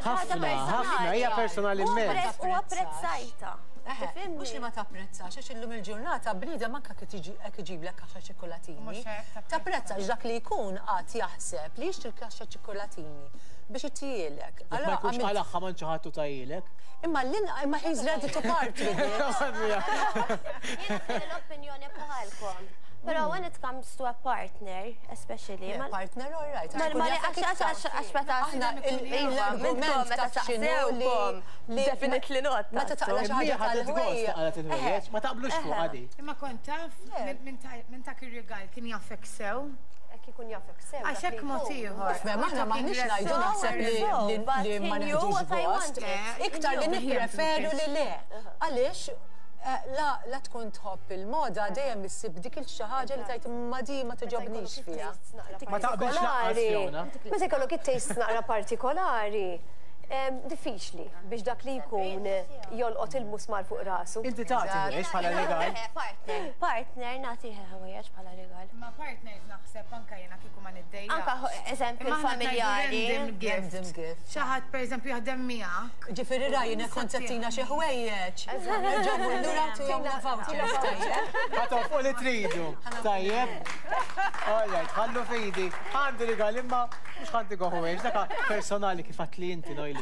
Ħafna, ħafna, hija personali immens. U apprezzajta. Mhux li ma tapprezzax, għax illum il-ġurnata bniedem anke kif iġiblek kaxxa ċikkulatini. Tapprezzax dak li jkun qatt jaħseb li jixtri kaxxa ċikkulatini biex ittielek. Ma jkunx għal-aħħa ma nċaħattu tajilek. Imma l-in, imma he's ready to part with it. Jiena kelli l-opinjoni bħalkom. Però when it comes to a partner, especially. Yeah, partner, all right. Ma ma għax għax għax meta Aħna l-argument meta taf x'inhu saqsewkom, li definitely not. Meta taqla xi ħaġa tal-ħwejjeġ. Il-ħwejjeġ, ma taqblux fuq għadi. Imma kont taf minn dak ir-rigal kien jafek sew. Hekk ikun jafek sew. Għax hekk mod ieħor. Mem, aħna maħniex ngħidu naħseb li li ma neħdux gost. Iktar li nippreferu li le. Għaliex la la tkun tħobb il-moda dejjem issib dik il-xi ħaġa li tajt ma di ma toġobnix fiha. Ma taqbilx lanqas Fiona. Meta jkollok it-taste naqra partikolari, diffiċli biex dak li jkun jolqot il-musmar fuq rasu. Inti tagħti ħwejjeġ bħala rigal. Partner, partner nagħtih ħwejjeġ bħala rigal. Ma partners naħseb anka jiena kieku ma niddejjaqx. Anka eżempju familjari. Random gift. Xi ħadd pereżempju jaħdem miegħek. Ġifieri Ryan jekk kont settina xi ħwejjeġ. Nerġgħu lura tihom vouchers tajjeb. Ħa fuq li tridu. Tajjeb. All right, ħallu fidi. Għandi rigal imma mhux ħanti ħwejjeġ, dak personali kif għatli inti Noili.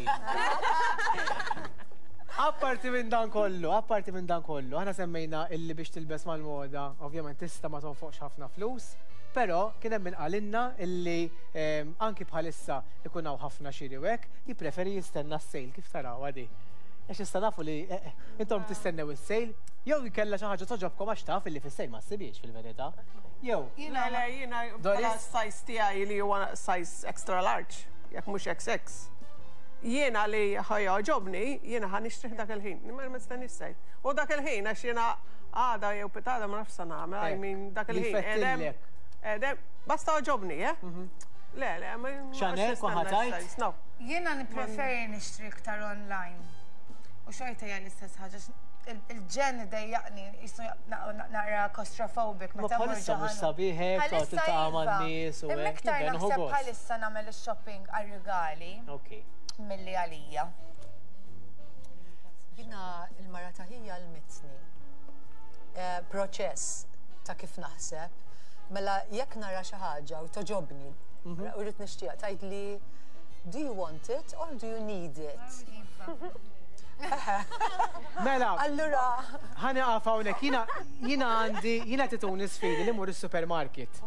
Apparti minn dan kollu, apparti minn dan kollu, aħna semmejna illi biex tilbes mal-moda, ovvjament tista' ma tonfoqx ħafna flus, però kien hemm min qalinna illi anki bħalissa ikun hawn ħafna xiri u hekk, jippreferi jistenna s-sale kif taraw għadi. Għax issa nafu li intom tistennew is-sale, jew jkella xi ħaġa toġobkom għax taf illi fis-sale ma ssibiex fil-verità. Jew. Le, le, jiena bħala size tiegħi li huwa size extra large, jekk mhux X X. Jiena li ħa jogħġobni, jiena ħa nixtrih dak il-ħin, ma nistenniex sale. U dak il-ħin għax jiena għada jew pitgħada ma nafx sa nagħmel, I mean dak il-ħin. Edem, edem, basta għoġobni, eh? Le, le, ma Chanel, kwaħatajt? No. Jiena nippreferi nixtri iktar online. U xorta hija l-istess ħaġa. Il-ġen dejjaqni, jisu naqra claustrophobic. Ma bħalissa mhux sabiħ hekk, toqgħod tiltaqa' man-nies u Imma hekk. iktar jibda nieħu naħseb gost. bħalissa nagħmel ix-shopping għar-rigali Ok. milli għalija. Jiena il-mara ta' ħija għallmitni. Eh, Proċess ta' kif naħseb, mela jekk nara xi ħaġa u toġobni, u rrid nixtieq tgħid li do you want it or do you need it? Mela, Allura, ħa nieqaf hawnhekk, jiena jiena għandi jiena tituni sfidi li mur is-supermarket.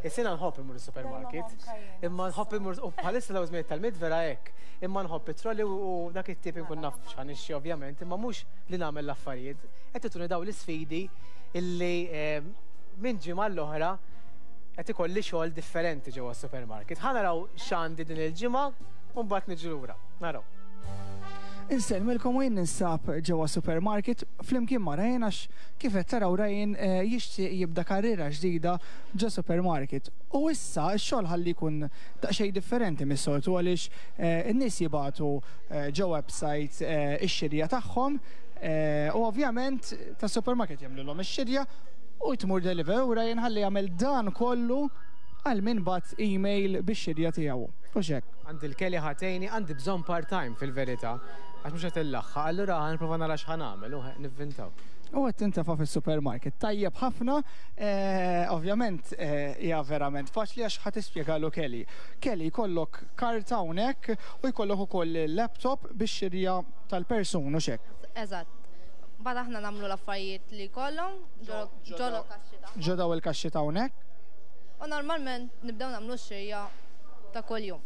Is-sena nħobb imur is-supermarket. Imma nħobb imur u bħalissa law żmien tal-Milied vera hekk. Imma nħobb it-trolley u dak it-tip inkun naf x'ħa nixtri ovvjament, imma mhux li nagħmel l-affarijiet. Qed tituni daw l-isfidi illi eh, minn ġimgħa l-oħra qed ikolli xogħol differenti ġewwa s-supermarket. Ħa naraw x'għandi din il-ġimgħa u mbagħad niġu lura. Naraw. Insellmilkom u jien ninsab ġewwa supermarket flimkien ma' Ryan għax kif qed taraw Ryan eh, jixtieq jibda karriera ġdida ġo supermarket. U issa x-xogħol ħalli jkun daqsxejn differenti mis-soltu għaliex eh, in-nies jibagħtu eh, ġo website eh, ix-xirja tagħhom eh, u ovvjament ta' supermarket jagħmlulhom ix-xirja u tmur delivery u Ryan ħalli jagħmel dan kollu għal min bagħat email bix-xirja tiegħu. U xek. Għandi l-Kelly ħatejni, għandi bżonn part-time fil-verità, għax mhux qed illaħħaq, allura ħa nipprova nara x'ħa nagħmel u nivvintaw. U qed tintefa' fis-supermarket. Tajjeb ħafna, eh, ovvjament eh, hija verament faċli għax ħa tispjegalu Kelly. Kelly jkollok karta hawnhekk u jkollok ukoll laptop bix-xirja tal-persun u xek. Eżatt. Mbagħad aħna nagħmlu l-affarijiet li kollhom ġolo kaxxi tagħhom. Ġo daw il-kaxxi ta' hawnhekk. U normalment nibdew nagħmlu x-xirja ta' kuljum.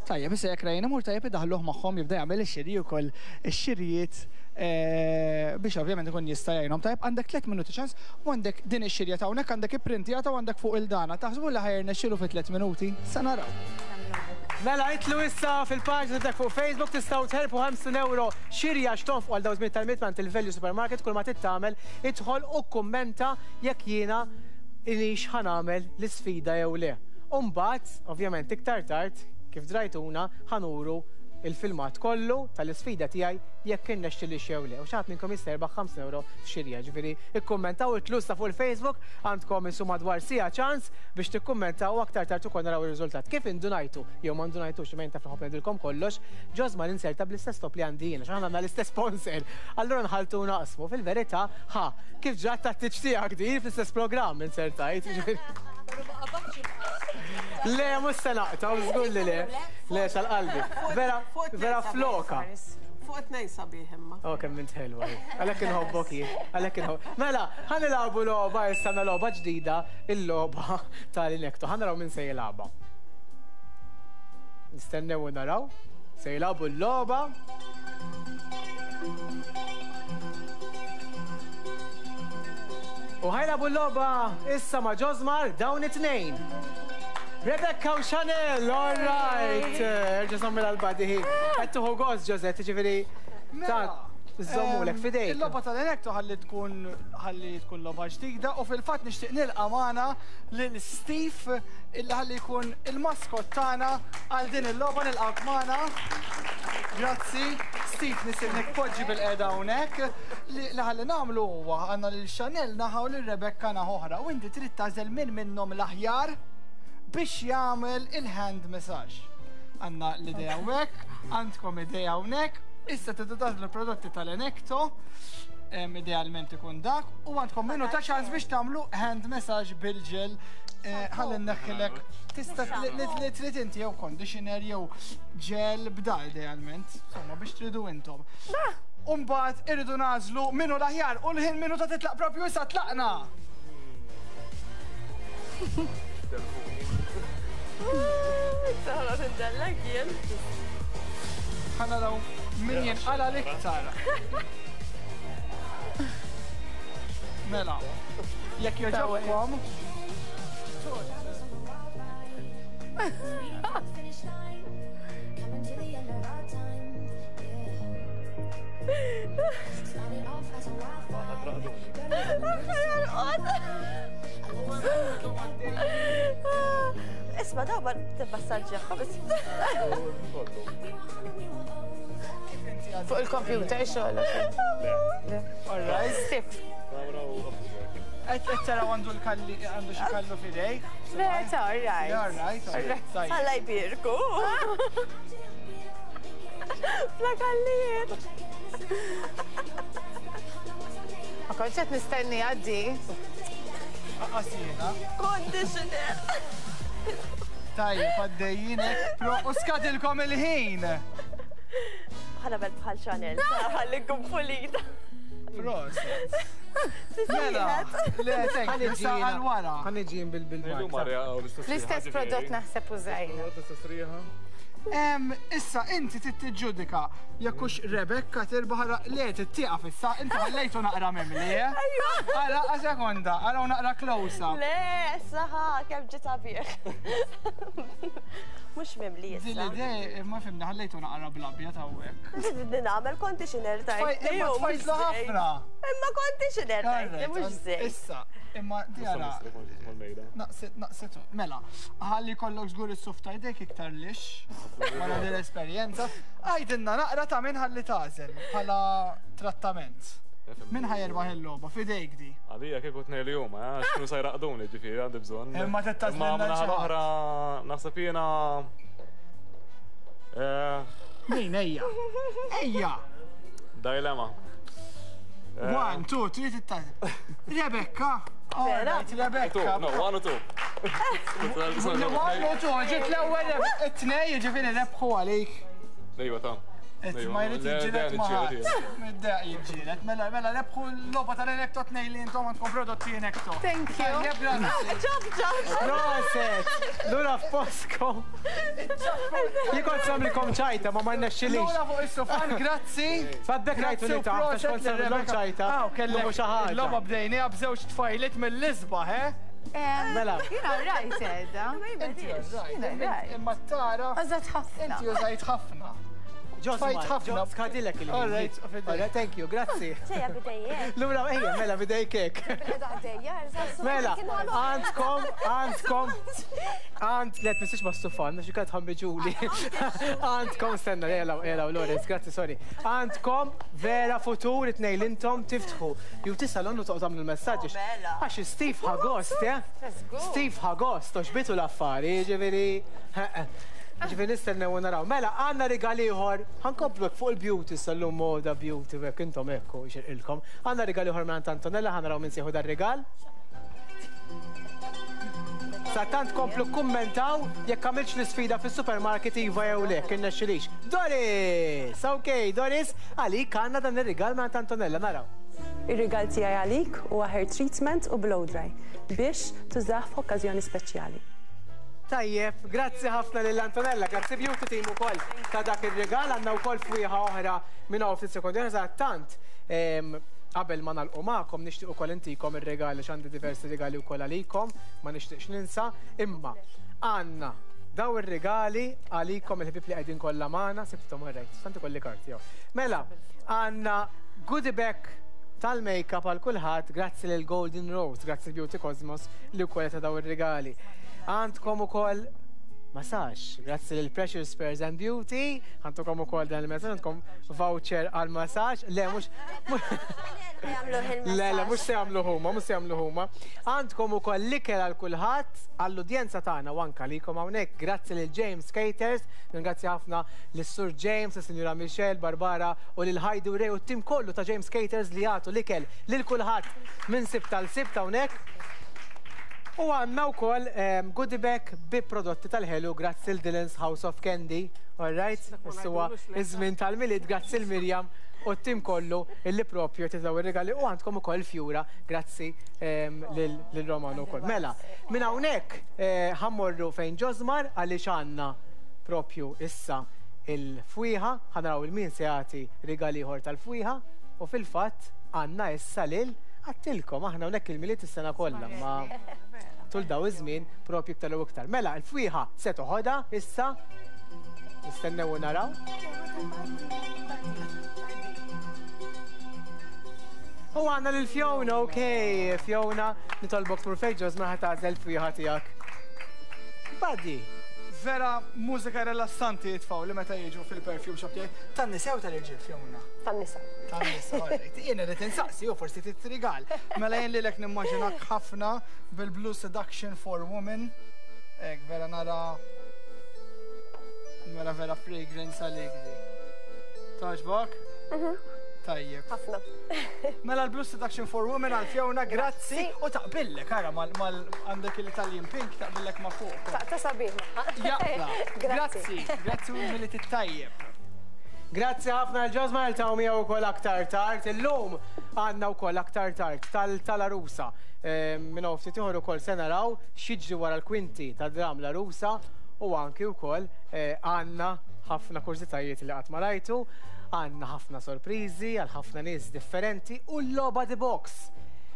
Tajjeb, issa jekk Ryan imur tajjeb idaħluh magħhom jibda jagħmel ix-xiri wkoll ix-xirijiet eh, biex ovvjament ikun jista' jgħinhom. Tajjeb, għandek tliet minuti ċans u għandek din ix-xirja ta' hawnhekk għandek ipprintjata u għandek fuq il-dana. Taħsbu li ħa jirnexxielu fi tliet minuti? Sa naraw. Mela, itilgħu issa fil-paġna dak fuq Facebook tistgħu terbħu ħamsin euro xirja x'tonfqu għal daw żmien tal-Milied mingħand il-Value Supermarket. Kull ma trid tagħmel idħol u kummenta jekk jiena ilix ħa nagħmel l-isfida jew le. U mbagħad, ovvjament iktar tard, kif drajtuna, ħa nuru il-filmat kollu tal-isfida tiegħi jekk irnexxili jew le. U xi ħadd minnkom jista' jirbaħ ħamsin euro f'xirja. Ġifieri ikkummentaw itilgħu issa fuq il-Facebook, għandkom insu madwar siegħa ċans biex tikkummentaw u aktar tard ukoll naraw ir-riżultat. Kif indunajtu jew ma ndunajtux, imma taf nħobb ngħidilkom kollox, Ġosma l-inserta bl-istess top li għandi jiena, x'aħna għandna l-istess sponsor. Allura nħaltu naqsmu fil-verità, ħa, kif ġrat tat-tiġ tiegħek din fl-istess programm insertajt. Le, mhux se naqta', żgur li le. Le, xal-qalbi. Vera, vera floka. Fuq it-tnejn sabiħ imma. Oh, kemm int ħelwa. Għalhekk inħobbok jien, għalhekk inħobb. Mela, ħa nilagħbu logħba issa logħba ġdida, il-logħba tal-Inecto. Ħa naraw min se jilagħba. Nistennew u naraw. Se jilagħbu l-logħba. U ħa jilagħbu l-logħba issa ma' Josmar dawn it-tnejn. Rebecca u Chanel, all right. Erġa' żommilha l-badi. Qed tieħu gost, Josette, jiġifieri ta' żommulek f'idejk. Il-logħba tal-Inecto ħalli tkun ħalli tkun logħba ġdida u fil-fatt nixtieq nilqa' magħna lil Steve illi ħalli jkun il-maskot tagħna għal din il-logħba nilqgħuk magħna. Grazzi. Steve nisilnek poġġi bil-qeda hawnhekk. Li ħalli nagħmlu huwa għandna lil Chanel naħa u lil Rebecca naħa oħra u inti trid tagħżel min minnhom l-aħjar biex jagħmel il-hand massage. Għandna l-idea hawnhekk, għandkom idea hawnhekk, issa tridu tagħżlu l-prodotti tal-Inecto, idealment ikun dak, u għandkom minuta ċans biex tagħmlu hand massage bil-ġel. Ħalli nneħħilek tista' li trid inti jew conditioner jew ġel b'da idealment, insomma biex tridu intom. U mbagħad irridu nagħżlu minnu l-aħjar u l-ħin minuta titlaq propju issa tlaqna. Ħa naraw min jinqala l-iktar. Mela, jekk jogħġobkom. Isma' daw ma tibassaġġjaħħa biss. Fuq il-computer xogħol. All right. Stiff. Qed taraw għandu l-kalli għandu xi kallu f'idejk. Le, ta' all right. All right, all right. Alla jbierku. Bla kallijiet. Ma kontx qed nistenni għaddi. Qasina. Conditioner. Tajjeb, għaddejjinek. U skadilkom il-ħin. Ħa nagħmel bħal Chanel, ħalli nkun pulita. Proset. Mela, le, thank you, issa għal wara. Ħa niġi bil-bil. L-istess prodott naħseb użajna. Issa inti trid tiġġudika jekk hux Rebecca tirbaħ le tieqaf issa inti ħallejtu naqra mimli, eh? Ara sekonda, araw naqra close up. Le, issa ħa kemm ġiet sabiħ. Mhux mimli issa. Din l-idea ma fimna ħallejtu naqra bl-abjad hawnhekk. Din nagħmel conditioner tajt. Imma tfajtlu ħafna. Imma conditioner tajt, mhux żejt. Issa, imma di ara. Naqset, naqset, mela, ħalli kollok żgur is-suf ta' jdejk iktar lix. Wara din l-esperjenza, għajdilna naqra ta' min ħalli tagħżel bħala trattament. Min ħa jerbaħ il-logħba f'idejk di. Għalija kieku tnejn li huma, għax kienu se jraqduni ġifieri għandi bżonn. Imma trid tagħżlilna Imma xi ħadd. l-oħra naħseb jiena Min ejja? Ejja! Dilemma. One, two, three, tagħżel. Rebecca! All right, Rebecca. No, one u two. One u two, ġiet l-ewwel it-tnejn jiġifieri rebħu għalik. Ejwa ta' Ma jrid jiġġieled ma' ħadd. Middaq jiġġieled. Mela, mela rebħu l-logħba tal-Inecto tnejn li intom għandkom prodotti Inecto. Thank you. Tajjeb, grazzi. Ġab, ġab. Proset! Lura f'poskom. Jien kont nagħmilkom ċajta, ma ma rnexxilix. Lura fuq is-sofan, grazzi. Faddek rajtu li taħt, għax kont nagħmilhom ċajta. Aw, kellek Mhux xi ħaġa. Il-logħba bdejniha b'żewġ tfajliet mill-isbaħ, eh? Mela. Jiena rajt edha. Inti Jiena rajt. Imma tara. Użat ħafna. Inti użajt ħafna. Tfajt ħafna. Skadilek il-ħin. All right, All right, thank you, grazzi. Ġejja bidejjek. Lura, ejja, mela, bidejkek. Mela, għandkom, għandkom, għand, let mistix ma stufan, għax ikat ħambiġuli. Għandkom, stenna, jela, jela, Lorenz, grazzi, sorry. Għandkom vera futur it-tnejn li intom tiftħu. Beauty salon u toqgħod tagħmlu l-messaġġi. Għax Steve ħagost, eh? Steve ħagost, toxbitu l-affari, ġifieri. Ġifieri nistennew u naraw. Mela, għandna rigal ieħor, ħankomplu fuq il-beauty sal-lum moda beauty, hekk intom hekk u xirqilkom. Għandna rigal ieħor minn Antonella, ħanaraw minn sieħu dar-rigal. Sa tant komplu kummentaw jekk għamilx l-isfida fis-supermarket iva jew le, kien nexxilix. Doris! Ok, Doris, għalik għandna dan ir-rigal minn Antonella, naraw. Ir-rigal tiegħi għalik huwa hair treatment u blow dry biex tużah f'okkażjoni speċjali. Tajjeb, grazzi ħafna lil Antonella, grazzi Beauty Team ukoll ta' dak ir-rigal, għandna wkoll fwieħa oħra minn hawn ftit sekondi. Tant qabel ma nagħlqu magħkom nixtieq ukoll intikom ir-regali għandi diversi regali wkoll għalikom, ma nixtieqx ninsa, imma għandna daw ir-regali għalikom il-ħbieb li qegħdin kollha magħna, sibthom orrejt, tant ikolli karti jew. Mela, għandna goodie bag tal-makeup għal kulħadd grazzi lil Golden Rose, grazzi Beauty Cosmos li wkoll ta' daw ir-regali. Għandkom ukoll massage, grazzi lil Precious Spares and Beauty, għandkom ukoll dan il-messaġġ, għandkom voucher għal massage, le mhux Le, le, mhux se jagħmlu huma, mhux se jagħmlu huma. Għandkom ukoll l-ikel għal kulħadd, għall-udjenza tagħna u anke għalikom hawnhekk, grazzi lil James Caters, ringrazzja ħafna lis-Sur James, lis-Sinjura Michelle, Barbara u lil Heidi u Ray u t-tim kollu ta' James Caters li jagħtu l-ikel lil kulħadd minn Sibt għal Sibt hawnhekk. U għandna wkoll goodie bag bi prodotti tal-ħelu grazzi l Dylan's House of Candy. All right, issa iż-żmien tal-Milied grazzi l Mirjam u t-tim kollu illi propju titlaw ir-regali u għandkom ukoll fjura grazzi lil Romano wkoll. Mela, minn hawnhekk ħa mmorru fejn Ġosmar għaliex għandna propju issa il-fwieħa, ħa naraw il-min se jagħti rigal ieħor tal-fwieħa u fil-fatt għandna issa lil għattilkom aħna hawnhekk il-Milied is-sena kollha ma tul daw iż-żmien propju iktar u iktar. Mela, il-fwieħa se toħodha issa nistennew u naraw. U għandna lil Fiona, ok, Fiona, nitolbok tmur fejn Ġosmar ħa tagħżel il-fwieħa tiegħek. Buddy. Vera mużika rilassanti jitfaw li meta jiġu fil-perfume shop tiegħi. Tan-nisa jew tal-irġiel, Fiona? Tan-nisa. Tan-nisa, alright. Jien irid insaqsi u forsi titrigal. Mela jien lilek nimmaġinak ħafna bil-Blue Seduction for Women. Ek, vera nara mela vera fragrance għalik di. Togħġbok? Tajjeb. Ħafna. Mela l-Blue Seduction for Women għal Fiona, grazzi. U taqbillek, ara, mal għandek l-Italian pink taqbillek ma fuq. Ta' sabiħ. Jaqla. Grazzi. Grazzi u l-Milied it-tajjeb. Grazzi ħafna l-Ġosmar ta' miegħu wkoll aktar tard. Illum għandna wkoll aktar tard tal-Arusa. Minn hawn ftit ieħor ukoll se naraw x'jiġri wara l-kwinti ta' dram l-Arusa u anki wkoll għandna ħafna kurżitajiet li qatt ma rajtu. Għandna ħafna sorpriżi għal ħafna nies differenti u l-logħba The Box.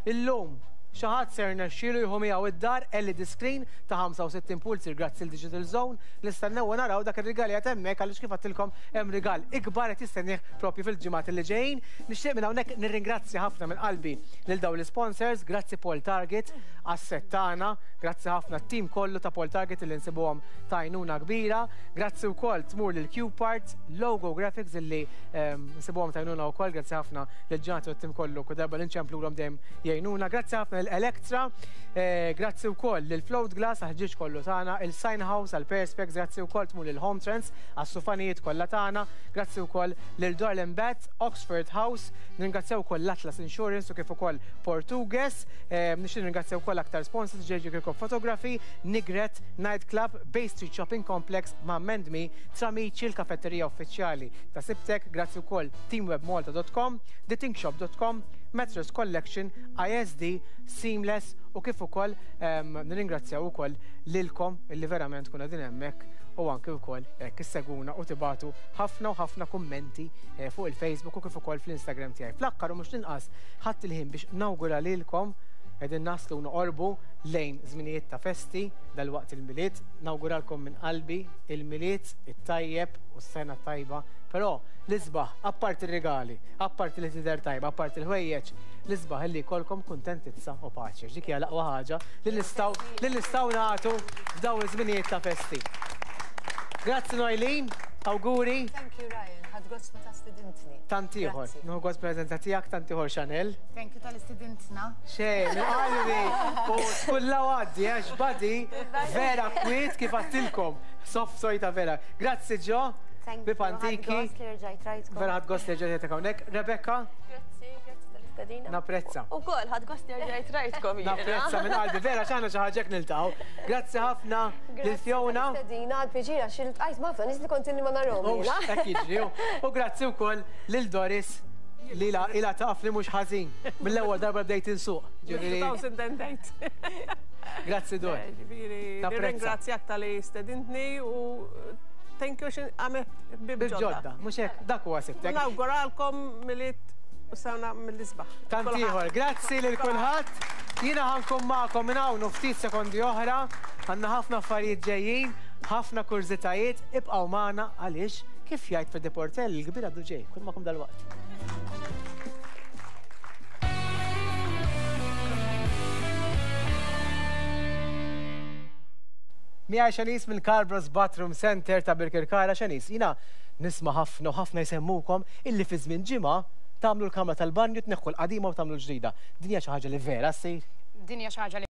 Illum xi ħadd ser nexxielu jieħu miegħu id-dar L E D screen ta' ħamsa u sittin pulsir grazzi l Digital Zone. Nistennew u naraw dak ir-rigal qed hemmhekk għaliex kif għedtilkom hemm rigal ikbar qed jistennieh propju fil-ġimgħat li ġejjin. Nixtieq minn hawnhekk nirringrazzja ħafna minn qalbi lil dawn l-sponsors, grazzi Paul Target għas-set tagħna, grazzi ħafna t-tim kollu ta' Paul Target li nsibuhom ta' għajnuna kbira, grazzi wkoll tmur lil Q Parts, Logo Graphics illi nsibuhom ta' għajnuna wkoll, grazzi ħafna lil ġanati u t-tim kollu kull darba li nċemplulhom dejjem jgħinuna, grazzi ħafna l-Electra, grazzi wkoll lil Float Glass għal-ħġieġ kollu tagħna, il-Sign House għal-Perspex, grazzi wkoll tmur lil Home Trends għas-sufanijiet kollha tagħna, grazzi wkoll lil Dorland Bat, Oxford House, nirringrazzjaw ukoll l-Atlas Insurance u kif ukoll Portugues, nixtieq nirringrazzjaw ukoll aktar sponsors J J Kirkop Photography, Nigret, Night Club, Bay Street Shopping Complex, ma' Mendmi, Tramici, l-kafetterija uffiċjali ta' Sibtek, grazzi wkoll teamwebmalta dot com, the think shop dot com, Mattress Collection, I S D, Seamless u kif ukoll nirringrazzjaw ukoll lilkom illi verament kuna din hemmhekk u anke wkoll hekk issegwuna u tibatu ħafna u ħafna kummenti fuq il-Facebook u kif ukoll fl-Instagram tiegħi. Fl-aħħar u mhux l-inqas ħadd il-ħin biex nawgura lilkom qegħdin naslu noqorbu lejn żminijiet ta' festi dal-waqt il-Milied, nawguralkom minn qalbi il-Milied it-tajjeb u s-sena tajba, però l-isbaħ apparti ir-regali, apparti li tidher tajba, apparti l-ħwejjeġ, l-isbaħ illi jkollkom kuntentizza u paċi. Dik hija l-aqwa ħaġa li nistgħu li nistgħu nagħtu f'dawn iż-żminijiet ta' festi. Grazzi Noelene, auguri. Thank you Ryan, ħadd gost meta stidintni. Tant ieħor, nieħu gost preżenza tiegħek, tant ieħor Chanel. Thank you tal-istidintna. Xejn, minn qalbi u tkulla għaddi għax badi vera kwiet kif għattilkom. Soft sojta vera. Grazzi Ġo. Thank you. Bib antiki. Ħadd gost li rġajt rajtkom. Vera ħadd gost li rġajt hawnhekk. Rebecca. Grazzi, grazzi tal tal-istedina. Napprezza. Ukoll ħadt gost nerġa' rajtkom jiena. Napprezza minn qalbi, vera x'aħna xi ħaġa hekk niltaqgħu. Grazzi ħafna lil Fiona. Stedina għal-pjaċir għax iltqajt ma' ħafna nies li kont ilni ma narahom. Mhux hekk jiġri. U grazzi wkoll lil Doris li la ilha taf li mhux ħażin. Mill-ewwel darba bdejt insuq. Ġifieri two thousand and eight. Grazzi, Dor. Ġifieri, Napprezza. nirringrazzjak talli stedintni u thank you xin għamilt ħbieb ġodda. Bil-ġodda, mhux hekk, dak huwa sibtek. Nawguralkom Milied u sena mill-isbaħ. Tant ieħor, grazzi lil kulħadd. Jiena ħa nkun magħkom minn hawn u ftit sekondi oħra. Għandna ħafna affarijiet ġejjin, ħafna kurżitajiet, ibqgħu magħna għaliex kif jgħid Freddy Portelli, il-kbir għadu ġej, nkun magħkom dalwaqt. Miegħi Xanis mill-Carbros Bathroom Center ta' Birkirkara. Xanis, jiena nisma' ħafna u ħafna jsemmukom illi fi żmien ġimgħa tagħmlu l-kamra tal-banju, tneħħu l-qadima u tagħmlu l-ġdida. Din hija xi ħaġa li vera ssir? Din hija xi ħaġa li